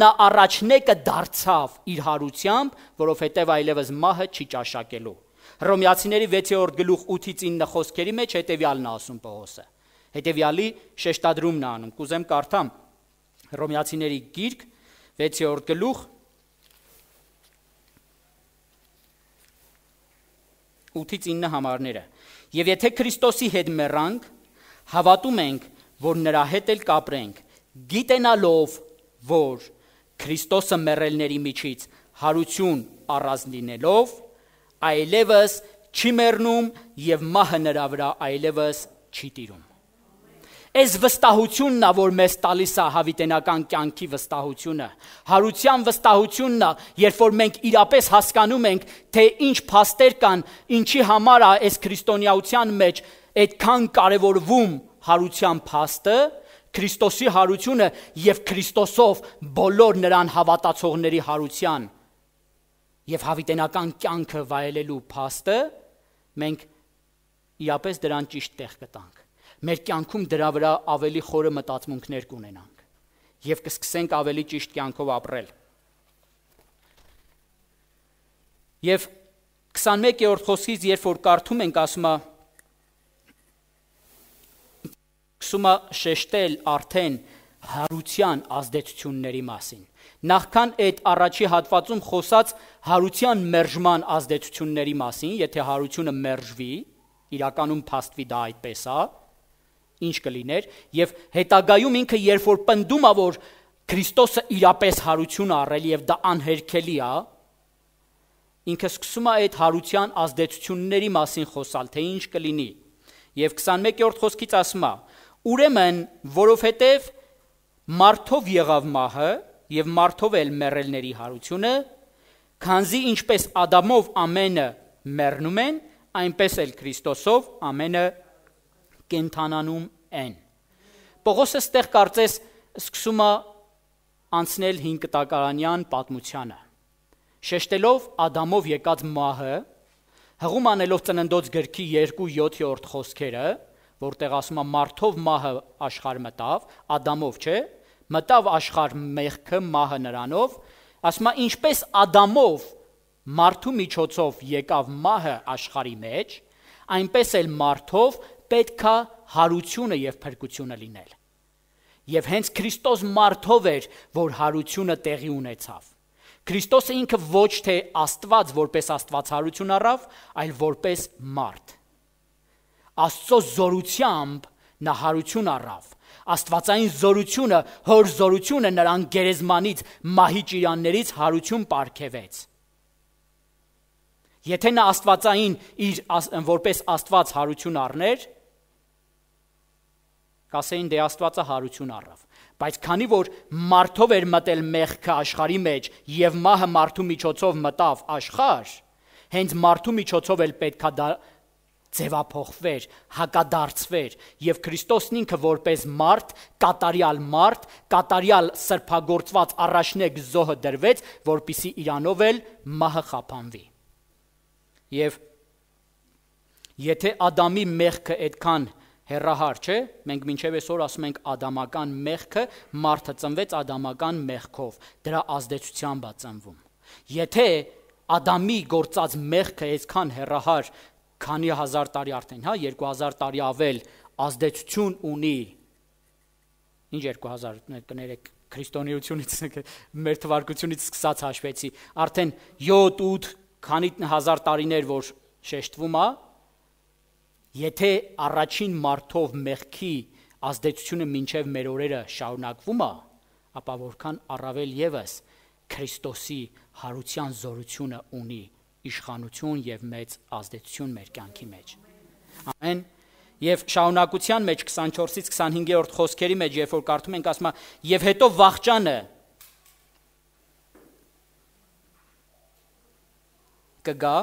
նա առաջնեկը դարձավ իր հարությամբ, որովհետև այլևս մահը չի ճաշակելու։ Հռոմեացիների 6-րդ գլուխ 8-ից 9 խոսքերի մեջ հետևյալն է ասում Պողոսը։ Հետևյալի շեշտադրումն է անում։ Կուզեմ կարդամ Հռոմեացիների գիրք 6-րդ գլուխ 8-ից 9 համարները։ Եվ եթե Քրիստոսի հետ մեռանք, հավատում ենք, որ նրա հետ էլ կապրենք, գիտենալով, որ Քրիստոսը մեռելների միջից հարություն առած լինելով, այլևս չի մեռնում եւ մահը նրա վրա այլևս չի տիրում։ Այս վստահությունն է, որ մեզ տալիս է հավիտենական կյանքի վստահությունը, հարության վստահությունն է, երբ որ մենք իրապես հասկանում ենք, թե ինչ փաստեր կան, ինչի համար է այս քրիստոնեության մեջ այդքան կարևորվում հարության փաստը, Քրիստոսի հարությունը եւ Քրիստոսով բոլոր նրան հավատացողների հարության եւ հավիտենական կյանքը վայելելու փաստը, մենք իրապես դրան ճիշտ տեղ կտանք։ Մեր կյանքում դրա վրա ավելի խորը մտածմունքներ կունենանք եւ կսկսենք ավելի ճիշտ կյանքով ապրել։ Եվ 21-րդ խոսքից, երբ որ կարդում ենք, սկսում է շեշտել արդեն հարության ազդեցությունների մասին։ Նախքան այդ առաջի հատվածում խոսած հարության մերժման ազդեցությունների մասին, եթե հարությունը մերժվի, իրականում փաստվի դա այդպես է, ինչ կլիներ, եւ հետագայում ինքը երբ որ պնդում է, որ Քրիստոսը իրապես հարություն առել եւ դա անհերքելի է, ինքը սկսում է այդ հարության ազդեցությունների մասին խոսալ, թե ինչ կլինի։ Եվ 21-րդ խոսքից ասում է. ուրեմն, որովհետև մարդով եղավ մահը եւ մարդով էլ մեռելների հարությունը, քանզի ինչպես Ադամով ամենը մեռնում են, այնպես էլ Քրիստոսով ամենը կենթանանում են։ Պողոսը ստեղ կարծես սկսում է անցնել 5 կտակարանյան պատմությանը, շեշտելով Ադամով եկած մահը, հղում անելով Ծննդոց գրքի 2:7 խոսքերը, որտեղ ասում է մարդով մահը աշխարհ մտավ, Ադամով չէ, մտավ աշխարհ մեղքը, մահը նրանով, ասում է ինչպես Ադամով մարդու միջոցով եկավ մահը աշխարհի մեջ, այնպես էլ մարդով պետք է հարությունը եւ փրկությունը լինել։ Եվ հենց Քրիստոս մարդով էր, որ հարությունը տեղի ունեցավ։ Քրիստոսը ինքը ոչ թե Աստված որպես Աստվածարություն առավ, այլ որպես մարդ։ Աստծո զորությամբ նա հարություն առավ։ Աստվածային զորությունը, հոր զորությունը նրան գերեզմանից, մահի ճիրաններից հարություն պարգևեց։ Եթե նա աստվածային իր որպես Աստված հարություն առներ, կասեին դե Աստվածը հարություն առավ, բայց քանի որ մարդով էր մտել մեղքը աշխարհի մեջ եւ մահը մարդու միջոցով մտավ աշխարհ, հենց մարդու միջոցով էլ պետքա դա ձևափոխվեր, հակադարձվեր եւ Քրիստոսն ինքը որպես մարդ, կատարյալ սրբագործված առաջնեկ զոհը դրվեց, որպիսի իրանով էլ մահը խափանվի։ Եվ եթե Ադամի մեղքը այդքան հեռահար չէ, մենք մինչև այսօր ասում ենք ադամական մեղքը, մարդը ծնվեց ադամական մեղքով, դրա ազդեցությամբ է ծնվում։ Եթե Ադամի գործած մեղքը այսքան հեռահար, քանի հազար տարի արդեն, 2000 տարի ավել ազդեցություն ունի, ինչ 2000 կներեք քրիստոնեությունից, մեր թվարկությունից սկսած հաշվեցի, արդեն 7-8 քանի հազար տարիներ, որ շեշտվում է, եթե առաջին մարդով մեղքի ազդեցությունը մինչև մեր օրերը շարունակվում է, ապա որքան առավել ևս Քրիստոսի հարության զորությունը ունի իշխանություն եւ մեծ ազդեցություն մեր կյանքի մեջ։ Ամեն։ Եվ շարունակության մեջ 24-ից 25-րդ խոսքերի մեջ, երբ որ կարդում ենք, ասում է, եւ հետո վախճանը կգա,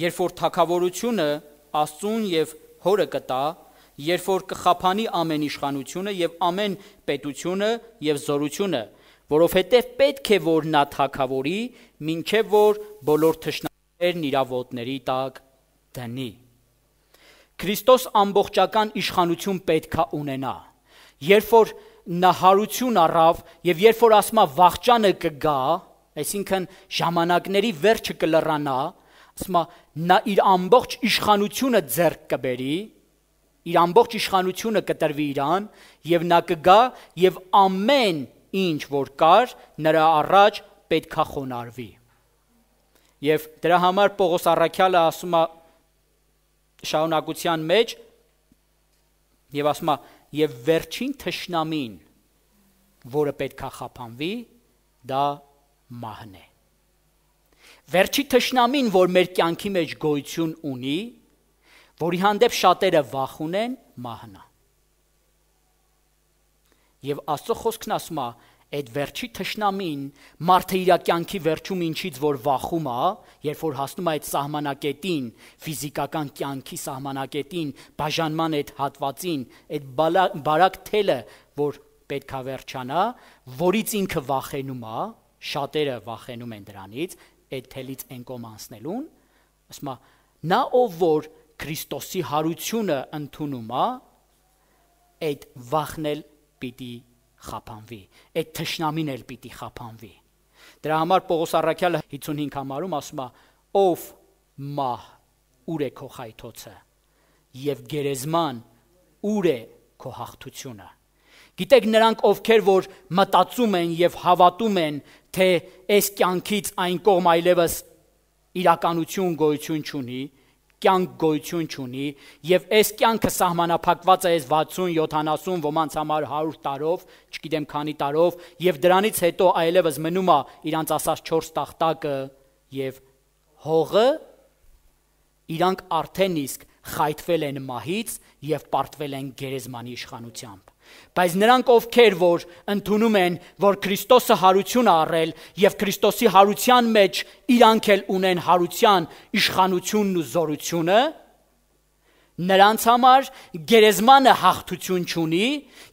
երբ որ թագավորությունը Աստծուն եւ Հորը կտա, երբ որ կխափանի ամեն իշխանությունը եւ ամեն պետությունը եւ զորությունը, որովհետեւ պետք է որ նա թագավորի, մինչեւ որ բոլոր թշնամիներն իր ոտների տակ դնի։ Քրիստոս ամբողջական իշխանություն պետք է ունենա։ Երբ որ նա հարություն առավ եւ երբ որ ասում է վախճանը կգա, այսինքն ժամանակների վերջը կլռանա, ասում է նա իր ամբողջ իշխանությունը ձեռք կբերի, իր ամբողջ իշխանությունը կտրվի իրան եւ նա կգա եւ ամեն ինչ որ կար նրա առաջ պետքա խոնարհվի։ Եվ դրա համար Պողոս առաքյալը ասում է շարունակության մեջ եւ ասում է եւ վերջին թշնամին, որը պետքա խափանվի, դա մահն է։ Վերջի թշնամին, որ մեր կյանքի մեջ գոյություն ունի, որի հանդեպ շատերը վախ ունեն, մահն է։ Եվ Աստծո խոսքն ասում է, այդ վերջի թշնամին մարդը իր կյանքի վերջում ինչից որ վախում է, երբ որ հասնում է այդ սահմանակետին, ֆիզիկական կյանքի սահմանակետին, բաժանման այդ հատվածին, այդ բարակ թելը, որ պետք է վերջանա, որից ինքը վախենում է, շատերը վախենում են դրանից, այդ թելից են կողմ անցնելուն, ասում է, նա ով որ Քրիստոսի հարությունը ընդունում է, այդ վախն էլ պիտի խափանվի, այդ թշնամին էլ պիտի խափանվի։ Դրա համար Պողոս առաքյալը 55 համարում ասում է, ով մահ, ուր է քո խայթոցը, եւ գերեզման, ուր է քո հաղթությունը։ Գիտեք, նրանք ովքեր որ մտածում են եւ հավատում են, թե այս կյանքից այն կողմ այլևս իրականություն գոյություն չունի, կյանք գոյություն չունի, եւ այս կյանքը սահմանափակված է այս 60, 70, ոմանց համար 100 տարով, չգիտեմ քանի տարով, եւ դրանից հետո այլևս մնում է իրանց ասած 4 տախտակը եւ հողը, իրանք արդեն իսկ խայթվել են մահից եւ պարտվել են գերեզմանի իշխանությամբ։ Բայց նրանք ովքեր որ ընդունում են, որ Քրիստոսը հարություն է առել եւ Քրիստոսի հարության մեջ իրանք էլ ունեն հարության իշխանությունն ու զորությունը, նրանց համար գերեզմանը հաղթություն չունի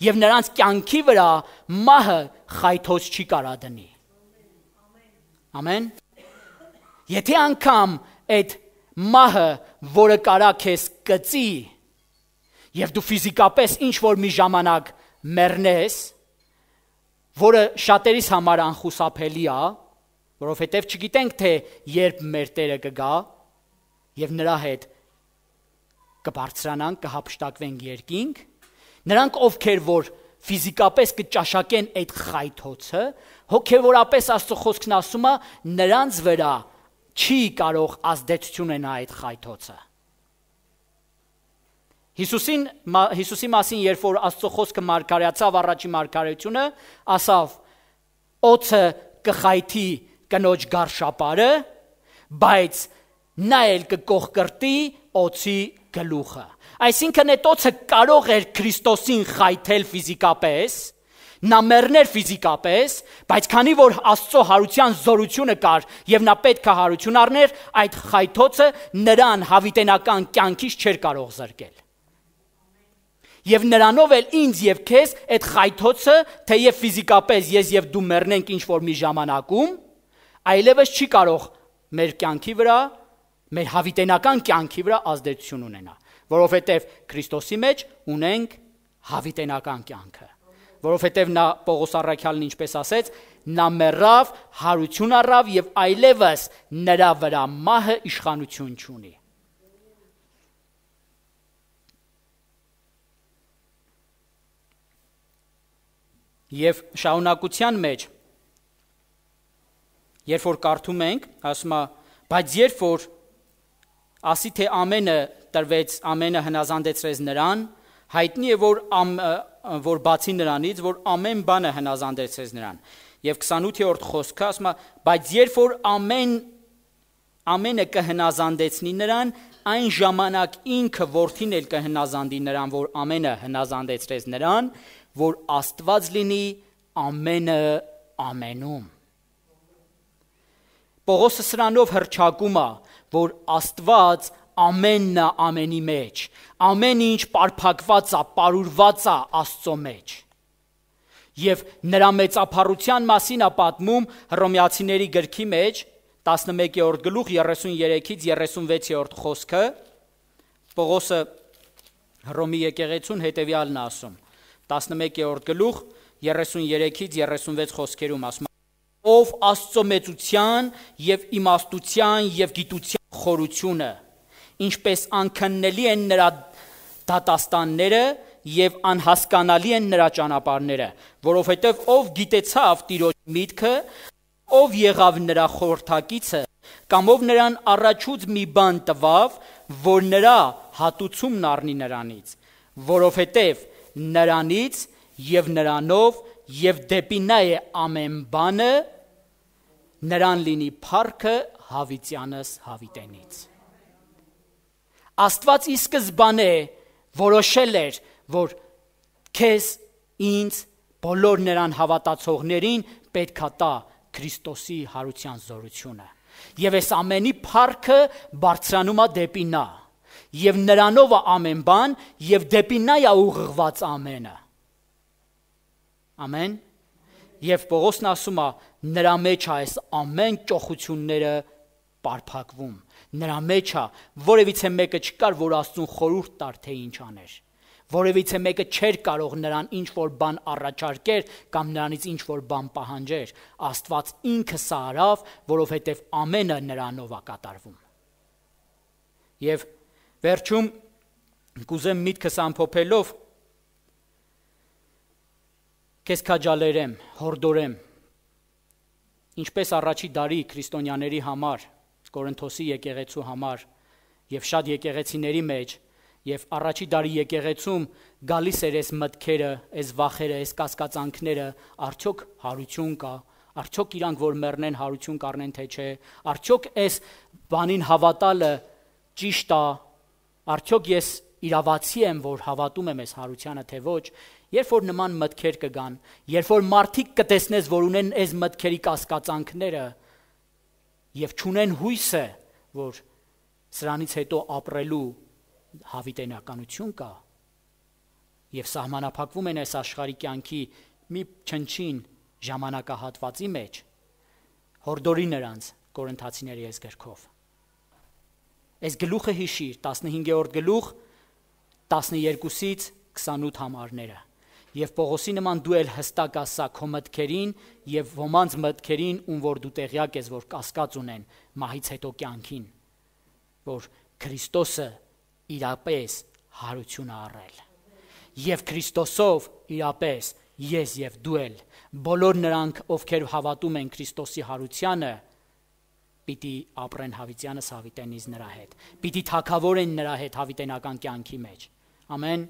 եւ նրանց կյանքի վրա մահը խայթոց չի կարա դնի։ Ամեն։ Եթե անգամ այդ մահը, որը կարա քեզ կծի, եւ դու ֆիզիկապես ինչ որ մի ժամանակ մեռնես, որը շատերիս համար անխուսափելի է, որովհետեւ չգիտենք թե երբ մեր Տերը կգա եւ նրա հետ կբարձրանանք, կհափշտակվենք երկինք, նրանք ովքեր որ ֆիզիկապես կճաշակեն այդ խայթոցը, հոգեվորապես Աստծո խոսքն ասում է, նրանց վրա չի կարող ազդեցություն ունենա այդ խայթոցը։ Հիսուսի մասին, երբ որ Աստծո խոսքը մարգարեացավ առաջի մարգարեությունը, ասավ. օձը կխայթի կնոջ գարշապարը, բայց նա էլ կկողկրտի օձի գլուխը։ Այսինքն այդ օձը կարող էր Քրիստոսին խայթել ֆիզիկապես, նա մեռներ ֆիզիկապես, բայց քանի որ Աստծո հարության զորությունը կար եւ նա պետք է հարություն առներ, այդ խայթոցը նրան հավիտենական կյանքից չէր կարող զրկել։ Եվ նրանով էլ ինձ եւ քեզ այդ խայթոցը, թեև ֆիզիկապես ես եւ դու մեռնենք ինչ որ մի ժամանակում, այլևս չի կարող մեր կյանքի վրա, մեր հավիտենական կյանքի վրա ազդեցություն ունենա, որովհետեւ Քրիստոսի մեջ ունենք հավիտենական կյանքը, որովհետեւ նա Պողոս առաքյալն ինչպես ասեց, նա մեռավ, հարություն առավ եւ այլևս նրա վրա մահը իշխանություն չունի։ Եվ շարունակության մեջ, երբ որ կարդում ենք, ասում է, բայց երբ որ ասի թե ամենը տրվեց, ամենը հնազանդեցրեց նրան, հայտնի է որ բացի նրանից, որ ամեն բանը հնազանդեցրեց նրան։ Եվ 28-րդ խոսքը ասում է, բայց երբ որ ամենը կհնազանդեցնի նրան, այն ժամանակ ինքը որդին էլ կհնազանդի նրան, որ ամենը հնազանդեցրեց նրան, որ Աստված լինի ամենը ամենում։ Պողոսը սրանով հռչակում է, որ Աստված ամենն է ամենի մեջ, ամեն ինչ պարփակված է, պարուրված է Աստծո մեջ։ Եվ նրա մեծափառության մասին է պատմում Հռոմեացիների գրքի մեջ 11-րդ գլուխ 33-ից 36-րդ խոսքը, Պողոսը Հռոմի եկեղեցուն հետևյալն է ասում, 11-րդ գլուխ 33-ից 36 խոսքերում ասում, ով Աստծո մեծության եւ իմաստության եւ գիտության խորությունը, ինչպես անքննելի են նրա դատաստանները եւ անհասկանալի են նրա ճանապարհները, որովհետեւ ով գիտեցավ Տիրոջ միտքը, ով եղավ նրա խորհրդակիցը, կամ ով նրան առաջուց մի բան տվավ, որ նրա հատուցումն առնի նրանից, որովհետեւ նրանից եւ նրանով եւ դեպի նա է ամեն բանը, նրան լինի փառքը հավիտյանս հավիտենից։ Աստված ի սկզբանե որոշել էր, որ քեզ, ինձ, բոլոր նրան հավատացողներին պետք է տա Քրիստոսի հարության զորությունը։ Եվ այս ամենի փառքը բարձրանում է դեպի նա, եւ նրանով է ամեն բան, եւ դեպի նա է ուղղված ամենը։ Ամեն։ Եվ Պողոսն ասում է, նրա մեջ է այս ամեն ճոխությունները պարփակվում։ Նրա մեջ է, որևիցե մեկը չկար, որ Աստծուն խորհուրդ տար, թե ինչ աներ։ Որևիցե մեկը չէր կարող նրան ինչ որ բան առաջարկեր կամ նրանից ինչ որ բան պահանջեր։ Աստված ինքը սա արավ, որովհետև ամենը նրանով է կատարվում։ Եվ վերջում կուզեմ միտքս ամփոփելով քեզ քաջալերեմ, հորդորեմ, ինչպես առաջի դարի քրիստոնյաների համար, Կորինթոսի եկեղեցու համար եւ շատ եկեղեցիների մեջ եւ առաջի դարի եկեղեցում գալիս էր այս մտքերը, այս վախերը, այս կասկածանքները, արդյոք հարություն կա, արդյոք իրանք որ մեռնեն հարություն կառնեն թե չէ, արդյոք այս բանին հավատալը ճիշտ է, արդյոք ես իրավացի եմ, որ հավատում եմ այս հարությանը թե ոչ, երբ որ նման մտքեր կգան, երբ որ մարդիկ կտեսնես, որ ունեն այս մտքերի կասկածանքները եւ չունեն հույսը, որ սրանից հետո ապրելու հավիտենականություն կա եւ սահմանափակվում են այս աշխարհի կյանքի մի չնչին ժամանակահատվածի մեջ, հորդորի նրանց Կորինթացիների այս գրքով։ Այս գլուխը հիշիր, 15-րդ գլուխ 12-ից 28 համարները։ Եվ Պողոսի նման դու էլ հստակ ասա քո մտքերին եւ ոմանց մտքերին, ում որ դու տեղյակ ես, որ կասկած ունեն մահից հետո կյանքին, որ Քրիստոսը իրապես հարություն է առել։ Եվ Քրիստոսով իրապես ես եւ դու էլ բոլոր նրանք, ովքեր հավատում են Քրիստոսի հարությանը, պիտի ապրեն հավիտյանս հավիտենից նրա հետ։ Պիտի թագավորեն նրա հետ հավիտենական կյանքի մեջ։ Ամեն։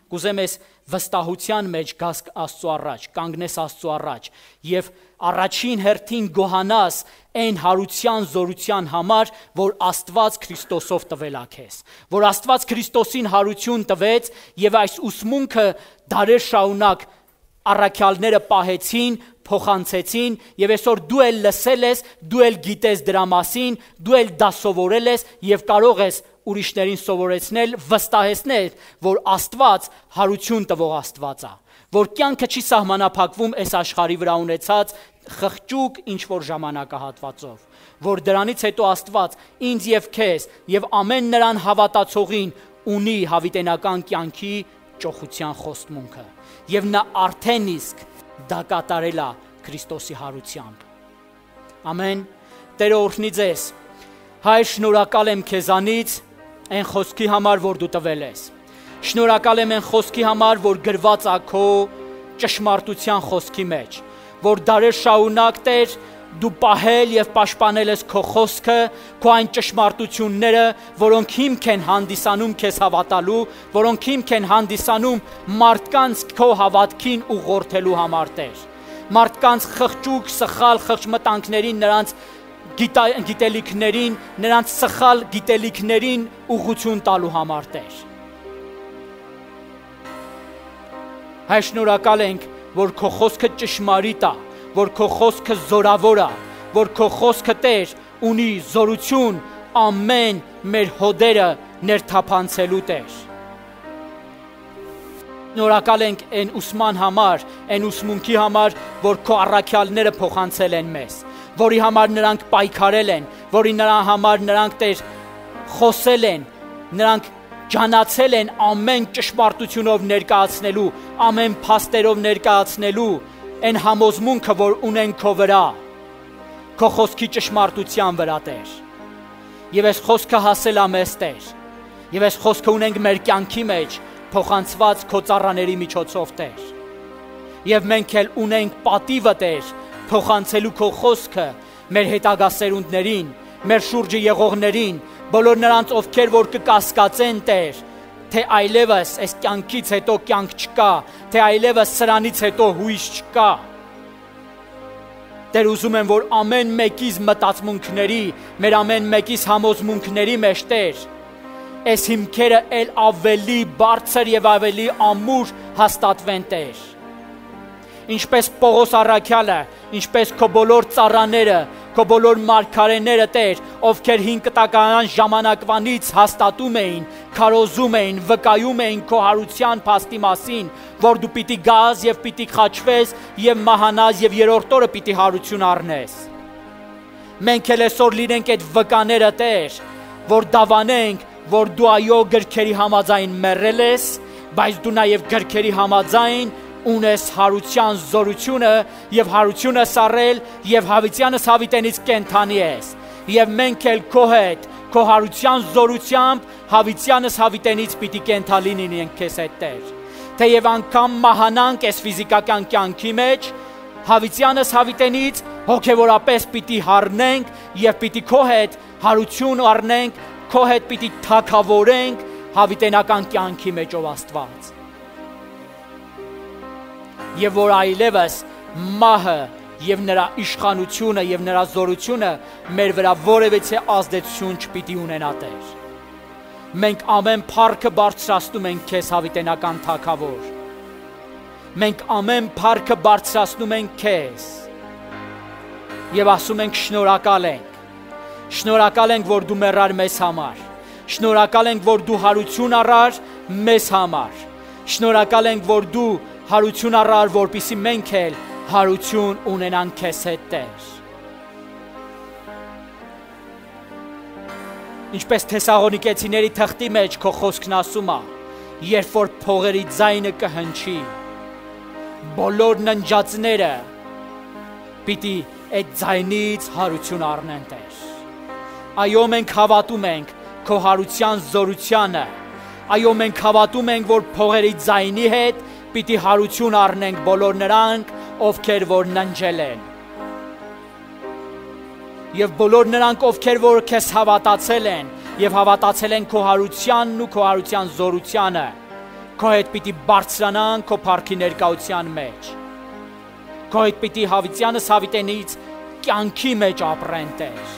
Կուզեմ ես վստահության մեջ գաս Աստծո առաջ, կանգնես Աստծո առաջ եւ առաջին հերթին գոհանաս այն հարության զորության համար, որ Աստված Քրիստոսով տվել է քեզ, որ Աստված Քրիստոսին հարություն տվեց եւ այս ուսմունքը դարեր շարունակ առաքյալները պահեցին, փոխանցեցին եւ այսօր դու էլ լսել ես, դու էլ գիտես դրա մասին, դու էլ դա սովորել ես եւ կարող ես ուրիշներին սովորեցնել, վստահեցնել, որ Աստված հարություն տվող Աստված է, որ կյանքը չի սահմանափակվում այս աշխարհի վրա ունեցած խղճուկ ինչ որ ժամանակահատվածով, որ դրանից հետո Աստված ինձ եւ քեզ եւ ամեն նրան հավատացողին ունի հավիտենական կյանքի ճոխության խոստմունքը եւ նա արդեն իսկ դա կատարել է Քրիստոսի հարությամբ։ Ամեն։ Տերը օրհնի ձեզ։ Հայր, շնորհակալ եմ քեզանից այն խոսքի համար, որ դու տվել ես։ Շնորհակալ եմ այն խոսքի համար, որ գրված է քո ճշմարտության խոսքի մեջ, որ դարեր շարունակ Տեր դու պահել եւ պաշտպանել ես քո խոսքը, քո այն ճշմարտությունները, որոնք հիմք են հանդիսանում քեզ հավատալու, որոնք հիմք են հանդիսանում մարդկանց քո հավատքին ուղղորդելու համար Տեր։ Մարդկանց խղճուկ, սխալ խղճմտանքներին, նրանց գիտելիքներին, նրանց սխալ գիտելիքներին ուղղություն տալու համար Տեր։ Հայր, շնորհակալ ենք, որ քո խոսքը ճշմարիտ է, որ քո խոսքը զորավոր է, որ քո խոսքը Տեր ունի զորություն ամեն մեր հոդերը ներթափանցելու Տեր։ Շնորհակալ ենք այն ուսման համար, այն ուսմունքի համար, որ քո առաքյալները փոխանցել են մեզ, որի համար նրանք պայքարել են, որի համար նրանք Տեր խոսել են, նրանք ջանացել են ամեն ճշմարտությունով ներկայացնելու, ամեն փաստերով ներկայացնելու այն համոզմունքը, որ ունեն քո վրա, քո խոսքի ճշմարտության վրա Տեր։ Եվ այս խոսքը հասել է մեզ Տեր, եւ այս խոսքը ունենք մեր կյանքի մեջ փոխանցված քո ծառաների միջոցով Տեր։ Եվ մենք էլ ունենք պատիվը Տեր փոխանցելու քո խոսքը մեր հետագա սերունդներին, մեր շուրջը եղողներին, բոլոր նրանց, ովքեր որ կկասկածեն Տեր, թե այլևս այս կյանքից հետո կյանք չկա, թե այլևս սրանից հետո հույս չկա։ Տեր, ուզում եմ, որ ամեն մեկիս մտածմունքների, մեր ամեն մեկիս համոզմունքների մեջ, Տեր, այս հիմքերը էլ ավելի բարձր եւ ավելի ամուր հաստատվեն, Տեր։ Ինչպես Պողոս առաքյալը, ինչպես քո բոլոր ծառաները, քո բոլոր մարգարեները, Տեր, ովքեր հին կտակարան ժամանակվանից հաստատում էին, քարոզում էին, վկայում էին քո հարության փաստի մասին, որ դու պիտի գաս եւ պիտի խաչվես եւ մահանաս եւ երրորդ օրը պիտի հարություն առնես։ Մենք էլ այսօր լինենք այդ վկաները, Տեր, որ դավանենք, որ դու այո գրքերի համաձայն մեռել ես, բայց դու նաեւ գրքերի համաձայն ունես հարության զորությունը եւ հարությունը սարել եւ հավիտյանս հավիտենից կենթանի ես եւ մենք էլ քո հետ քո հարության զորությամբ հավիտյանս հավիտենից պիտի կենթանի լինենք քեզ հետ, Տեր, թեև անգամ մահանանք այս ֆիզիկական կյանքի մեջ, հավիտյանս հավիտենից հոգեվորապես պիտի հառնենք եւ պիտի քո հետ հարություն առնենք, քո հետ պիտի թագավորենք հավիտենական կյանքի մեջ, ով Աստված։ Եվ որ այլևս մահը եւ նրա իշխանությունը եւ նրա զորությունը մեր վրա որևէ ազդեցություն չպիտի ունենա, Տեր։ Մենք ամեն փառքը բարձրացնում ենք քեզ, հավիտենական Թագավոր։ Մենք ամեն փառքը բարձրացնում ենք քեզ եւ ասում ենք շնորհակալ ենք։ Շնորհակալ ենք, որ դու մեռար մեզ համար։ Շնորհակալ ենք, որ դու հարություն առար մեզ համար։ Շնորհակալ ենք, որ դու հարություն առար, որպեսզի մենք էլ հարություն ունենանք քեզ հետ, Տեր։ Ինչպես Թեսաղոնիկեցիների թղթի մեջ քո խոսքն ասում է, երբ որ փողերի ձայնը կհնչի, բոլոր ննջածները պիտի այդ ձայնից հարություն առնեն, Տեր։ Այո, մենք հավատում ենք քո հարության զորությանը։ Այո, մենք հավատում ենք, որ փողերի ձայնի հետ պիտի հարություն առնենք բոլոր նրանք, ովքեր որ ննջել են։ Եվ բոլոր նրանք, ովքեր որ քեզ հավատացել են եւ հավատացել են քո հարությանն ու քո հարության զորությանը, քո հետ պիտի բարձրանան քո փառքի ներկայության մեջ։ Քո հետ պիտի հավիտյանս հավիտենից կյանքի մեջ ապրեն, Տեր,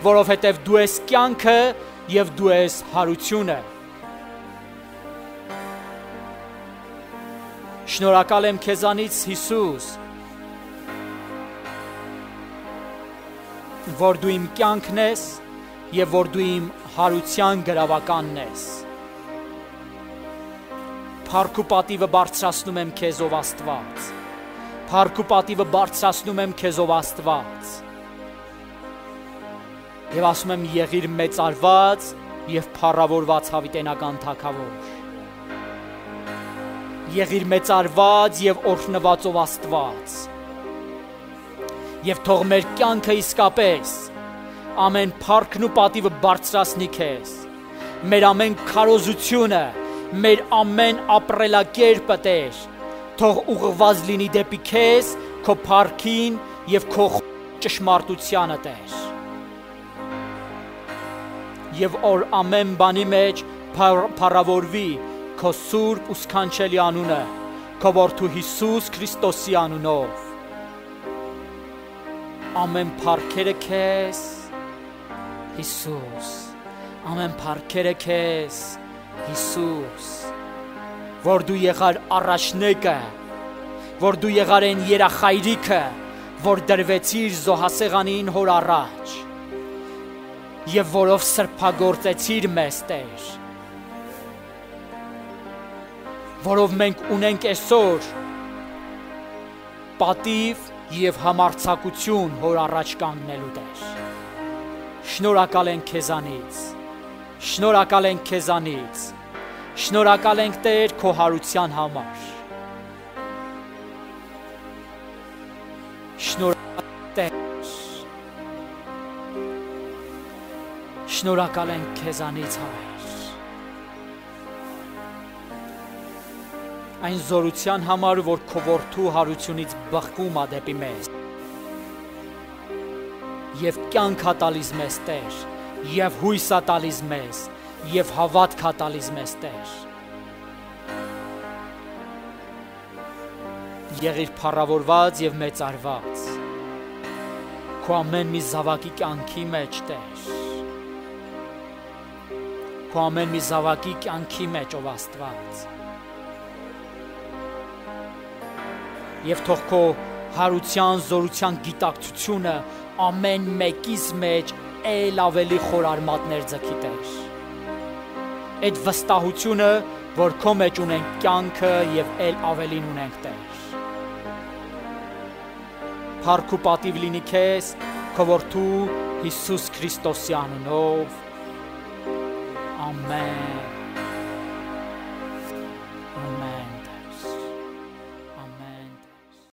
որովհետեւ դու ես կյանքը եւ դու ես հարությունը։ Շնորհակալ եմ քեզանից, Հիսուս, որ դու իմ կյանքն ես եւ որ դու իմ հարության գրավականն ես։ Փառք ու պատիվը բարձրացնում եմ քեզ, ով Աստված։ Փառք ու պատիվը բարձրացնում եմ քեզ, ով Աստված։ Եվ ասում եմ եղիր մեծարված եւ փառավորված հավիտենական Թագավոր։ Եղիր մեծարված եւ օրհնված, ով Աստված։ Եվ թող մեր կյանքը իսկապես ամեն փառքն ու պատիվը բարձրացնի քեզ։ Մեր ամեն քարոզությունը, մեր ամեն ապրելակերպը, Տեր, թող ուղղված լինի դեպի քեզ, քո փառքին եւ քո ճշմարտությանը, Տեր։ Եվ որ ամեն բանի մեջ փառավորվի քո սուրբ ու սքանչելի անունը, քո որդու Հիսուս Քրիստոսի անունով։ Ամեն փառքերը քեզ, Հիսուս, ամեն փառքերը քեզ, Հիսուս, որ դու եղար առաջնեկը, որ դու եղար այն երախայրիկը, որ դրվեցիր զոհասեղանին հոր առաջ, եւ որով սրբագործեցիր մեզ, Տեր, որով մենք ունենք այսօր պատիվ եւ համարձակություն հոր առաջ կանգնելու, Տեր։ Շնորհակալ ենք քեզանից, շնորհակալ ենք քեզանից, շնորհակալ ենք, Տեր, քո հարության համար։ Շնորհակալ, Տեր, շնորհակալ ենք քեզանից, Հայր։ Այն զորության համար, որ քո որդու հարությունից բխկում է դեպի մեզ։ Եվ կյանք ա տալիս մեզ, Տեր, եւ հույս ա տալիս մեզ, եւ հավատք ա տալիս մեզ, Տեր։ Եղիր փառավորված եւ մեծարված։ քո ամեն մի զավակի կյանքի մեջ, Տեր, քո ամեն մի զավակի կյանքի մեջ, ով Աստված, եւ թող քո հարության, զորության գիտակցությունը ամեն մեկիս մեջ էլ ավելի խորարմատներ ձգի, Տեր, այդ վստահությունը, որ քո մեջ ունենք կյանքը եւ էլ ավելին ունենք, Տեր, փառք ու պատիվ լինի քեզ, քո որդու Հիսուս Քրիստոսի անունով, ամեն։